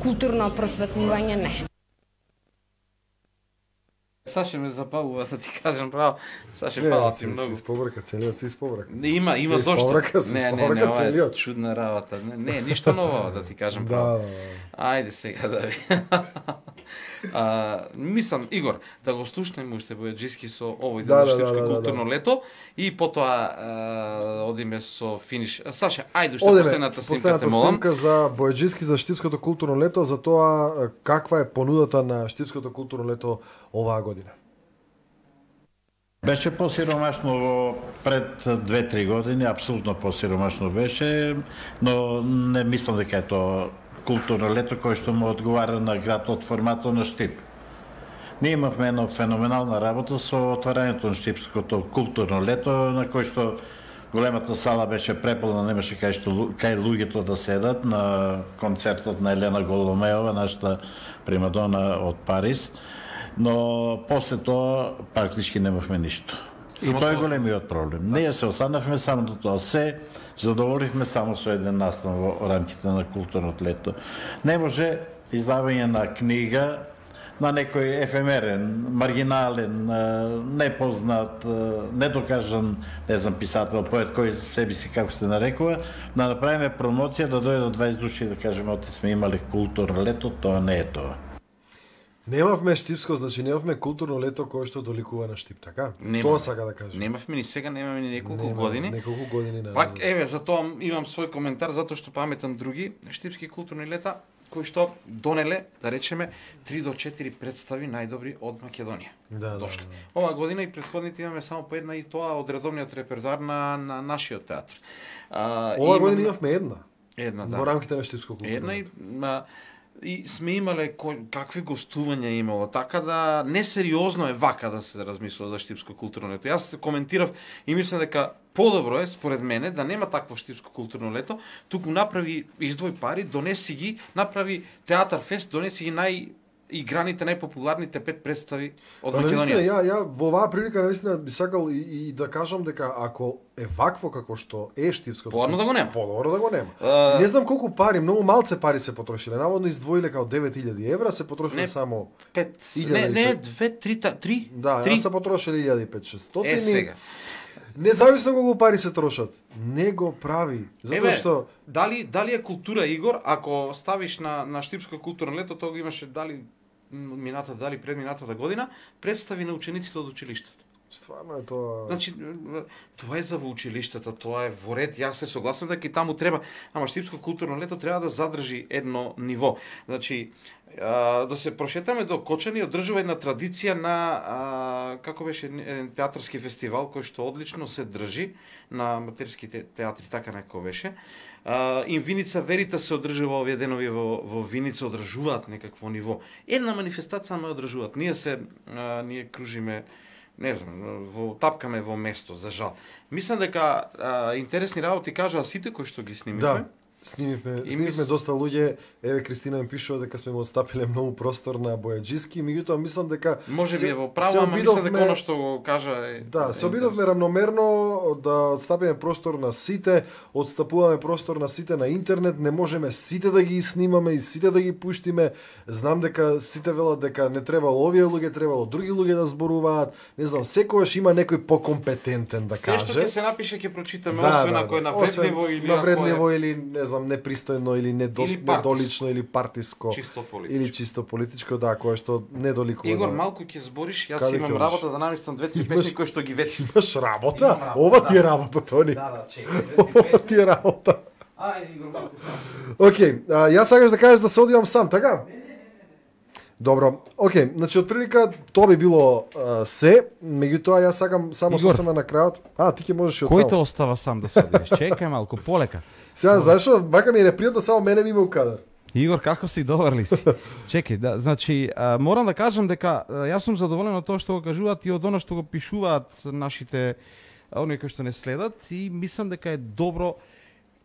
културно просветлување, не. Саше ме забавува да ти кажам право. Саше фала ти многу. Си испобрака целиот, си испобрака. Има зошто. Не, чудна работа. Не, ништо ново да ти кажам право. Ајде сега да ви. Мислам, Игор, да го слушнеме уште Бојаджиски со овој ден Штипско културно лето и потоа одиме со финиш. Саша, ајде уште последната снимка те молам. Снимка за Бојаджиски за Штипското културно лето, за тоа каква е понудата на Штипското културно лето оваа година. Беше посиромашно пред 2-3 години, апсолутно посиромашно беше, но не мислам дека е тоа културно лето кој што му одговара на град од форматот на Штип. Ние имавме една феноменална работа со отварањето на Штипското културно лето, на кој што големата сала беше преполна, немаше кај луѓето да седат на концертот на Елена Голомеова, нашата примадона од Париз, но после тоа практички немавме ништо. И тоа е големиот проблем. Ние се останавме само до тоа. Се задоволивме само со еден настан во рамките на културното лето. Не може издавање на книга на некој ефемерен, маргинален, непознат, недокажан, не знам, писател, поет, кој себе си, како се нарекува, да направиме промоција, да дојдат 20 души и да кажеме, оти сме имали културно лето, тоа не е тоа. Немавме Штипско, значи немавме културно лето кое што доликува на Штип, така? Тоа сака да кажам. Немавме ни сега, немаме ни неколку години. Неколку години назад. Пак, еве, затоа имам свој коментар, затоа што паметам други штипски културни лета, кои што донеле, да речеме, 3 до 4 представи најдобри од Македонија. Дошли. Оваа година и претходните имаме само по една и тоа од редовниот репертоар на нашиот театар. Оваа година имавме една. Една, да. Во рамките на Штипско културно. Една и сме имале какви гостувања имало, така да несериозно е вака да се размислува за Штипско културно лето. Јас коментирав и мислам дека подобро е, според мене, да нема такво Штипско културно лето, туку направи издвој пари, донеси ги, направи театар фест, донеси ги играните, најпопуларните 5 представи од Македонија. Ја во оваа прилика наистина би сакал и да кажам дека ако е вакво како што е Штипското, подобро да го нема. Подобро да го нема. Не знам колку пари, многу малце пари се потрошиле. Наводно издвоиле као 9000 евра, се потрошиле само 5. Не, 2, 3. Да, се потрошиле 1500. Е сега. Независно колку пари се трошат, не го прави. Затоа што дали е култура, Игор, ако ставиш на Штипско културно лето, тоа го имаше дали предминатата година, представи на учениците од училиштето. Стварно е тоа. Значи, тоа е за во училиштата, тоа е во ред. Јас се согласувам дека и таму треба, ама Штипско културно лето треба да задржи едно ниво. Значи, да се прошетаме до Кочани, одржува една традиција на како беше еден театарски фестивал кој што одлично се држи на аматерските театри, така некако беше. И Виница Верита се одржува овие денови во Виница, одржуваат некакво ниво. Една манифестација ме одржуваат. Ние кружиме, не знам, тапкаме во место, за жал. Мислам дека интересни работи кажаа сите кои што ги снимивме. Снимивме доста луѓе. Еве Кристина ми пишува дека сме му отстапиле многу простор на бојаджиски, меѓутоа мислам дека може би е во право, ама мислам дека оно што го кажа е... Да, се обидовме рамномерно да отстапиме простор на сите, отстапуваме простор на сите на интернет, не можеме сите да ги снимаме и сите да ги пуштиме. Знам дека сите велат дека не требало овие луѓе, требало други луѓе да зборуваат. Не знам, секогаш има некој покомпетентен да каже. Се што ќе се напише ќе прочитаме, освен ако е навредливо или навредливо или не знам, непристојно или недолично или партиско или чисто политичко, да, кое што недоликува. Игор, малку ќе збориш, јас имам работа да наместам 2-3 песни кои што ги вети. Имаш работа? Ова ти е работа, Тони. Да, чекај. Ова ти е работа. Ајде, Игор, малку сам. Океј, јас сакаш да кажеш да се одивам сам, така? Добро, океј, значи отприлика тоа би било се, меѓутоа јас сакам само сосема на крајот. Ти ќе можеш и од Кој те остава сам да се одиш? Чекај малку, полека. Сега, зашо, вака ми е непријатно, само мене ми има у кадар. Игор, како си, добар ли си? Чекај, да, значи, морам да кажам дека јас сум задоволен од тоа што го кажуваат и од оно што го пишуваат нашите оние кои што не следат и мислам дека е добро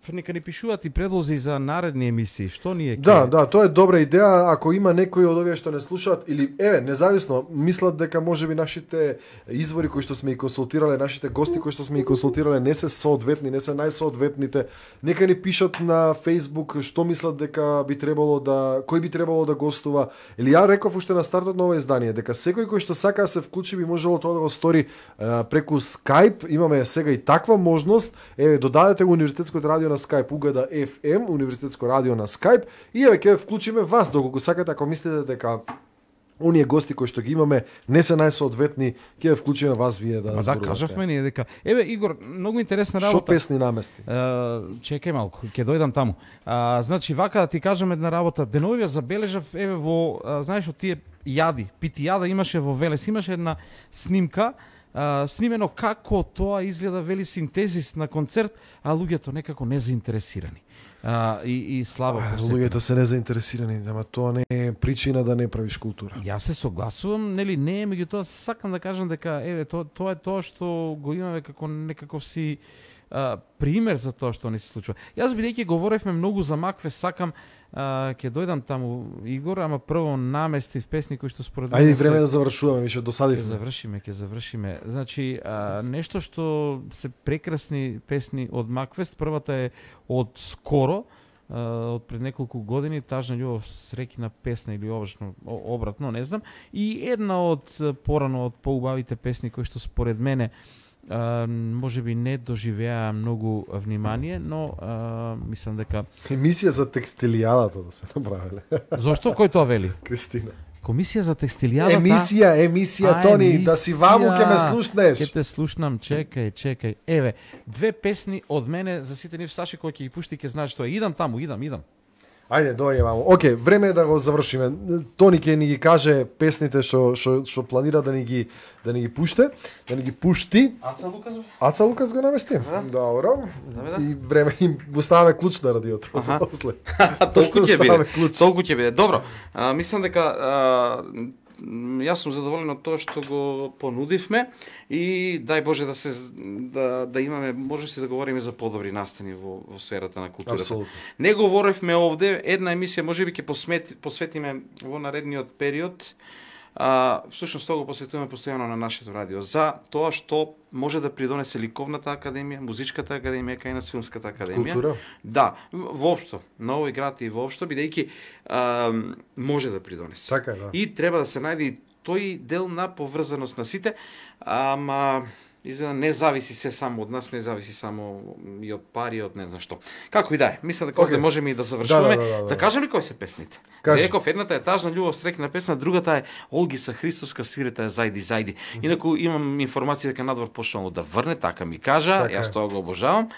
нека ни пишуваат и предлози за наредни емисии. Што ние Да, тоа е добра идеја. Ако има некои од овие што не слушаат или независно мислат дека можеби нашите извори кои што сме ги консултирале, нашите гости кои што сме ги консултирале не се соодветни, не се најсоодветните, нека ни пишат на Facebook што мислат дека би требало кој би требало да гостува. Или ја реков уште на стартот на ова издание дека секој кој што сака да се вклучи би можело тоа да го стори преку Skype. Имаме сега и таква можност. Додадете го Универзитетското радио на Skype, Угада FM, Универзитетско радио на Skype и ќе вклучиме вас доколку сакате, ако мислите дека оние гости кои што ги имаме не се најсоодветни, ќе вклучиме вас вие да зборувате. Да, кажавме ние дека Игор, многу интересна работа. Што песни намести? Чекај малку, ќе дојдам таму. Значи вака да ти кажам една работа. Деновиве забележав во знаеш од тие јади, питијада имаше во Велес, имаше една снимка снимено како тоа изгледа, вели синтезис на концерт, а луѓето некако незаинтересирани. И слабо посетени. Луѓето се незаинтересирани, ама тоа не е причина да не правиш култура. Јас се согласувам, нели не, меѓутоа сакам да кажам дека тоа е тоа што го имаме како некаков си пример за тоа што ни се случува. Јас бидејќи говоревме многу за Макве, сакам ќе дојдам таму, Игор, ама прво наместив песни кои што според мене... Ајде, време да завршуваме, више досадивме. Ќе завршиме. Значи, нешто што се прекрасни песни од Маквест, првата е од скоро, од пред неколку години, Тажна љубов, среќна песна или обратно, не знам, и една од порано од поубавите песни кои што според мене може би не доживеа многу внимание, но мислам дека... Емисија за текстилијадата да сме направиле. Зошто? Кој тоа вели? Кристина. Комисија за текстилијадата? Емисија, Тони, да си ваму ке ме слушнеш. Ке те слушнам, чекај. Еве, две песни од мене за сите нив Саши кој ќе ги пушти, ке знаеш што е. Идам таму. Ајде, дојде мамо. Океј, време е да го завршиме. Тони ќе ни ги каже песните што планира да ни ги пуште, да ни ги пушти. Аца Лукас го намести? Добро. И време им оставаме клуч на радиото. После. Толку ќе биде. Добро. Мислам дека јас сум задоволен од тоа што го понудивме и дај Боже да имаме можности да говориме за подобри настани во сферата на културата. Абсолютно. Не говоревме овде, една емисија можеби ќе посветиме во наредниот период. Всушност тоа го посветуваме постојано на нашето радио за тоа што може да придонесе ликовната академија, музичката академија, кај нас филмската академија. Култура? Да, воопшто, на овој град и воопшто, бидејќи може да придонесе. Така е, да. И треба да се најде и тој дел на поврзаност на сите, ама изгледа не зависи се само од нас, не зависи само и од пари, од не знам што. Како и да е, мислам дека овде можеме и да завршуваме. Да кажем ли кои се песните? Реков, едната е Тажна љубов, среќна песна, другата е Олгиса Христоска, свирета е Зајди. Инаку имам информација дека надвор почнало да врне, така ми кажа, јас тоа го обожавам.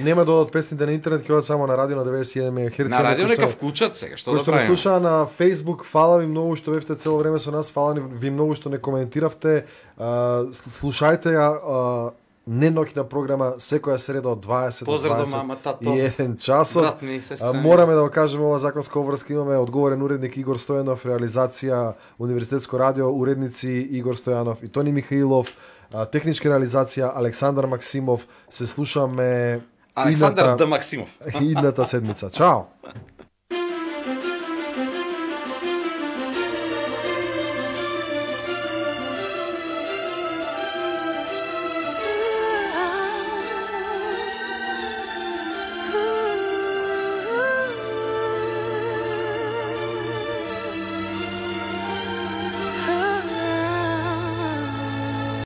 Нема да одат песните на интернет, ќе одат само на радио на 91 МГц. На радио нека вклучат сега, што да правиме? Кој што слуша на Facebook, фала ви многу што бевте цело време со нас, фала ви многу што не коментиравте. Слушајте ја не ноќна програма секоја среда од 20 до 21 часот. Мораме да го кажеме ова законска обврска, имаме одговорен уредник Игор Стојанов, реализација Универзитетско радио, уредници Игор Стојанов и Тони Михаилов, техничка реализација Александар Максимов. Се слушаме Александар Д. Максимов. Идната седмица. Чао!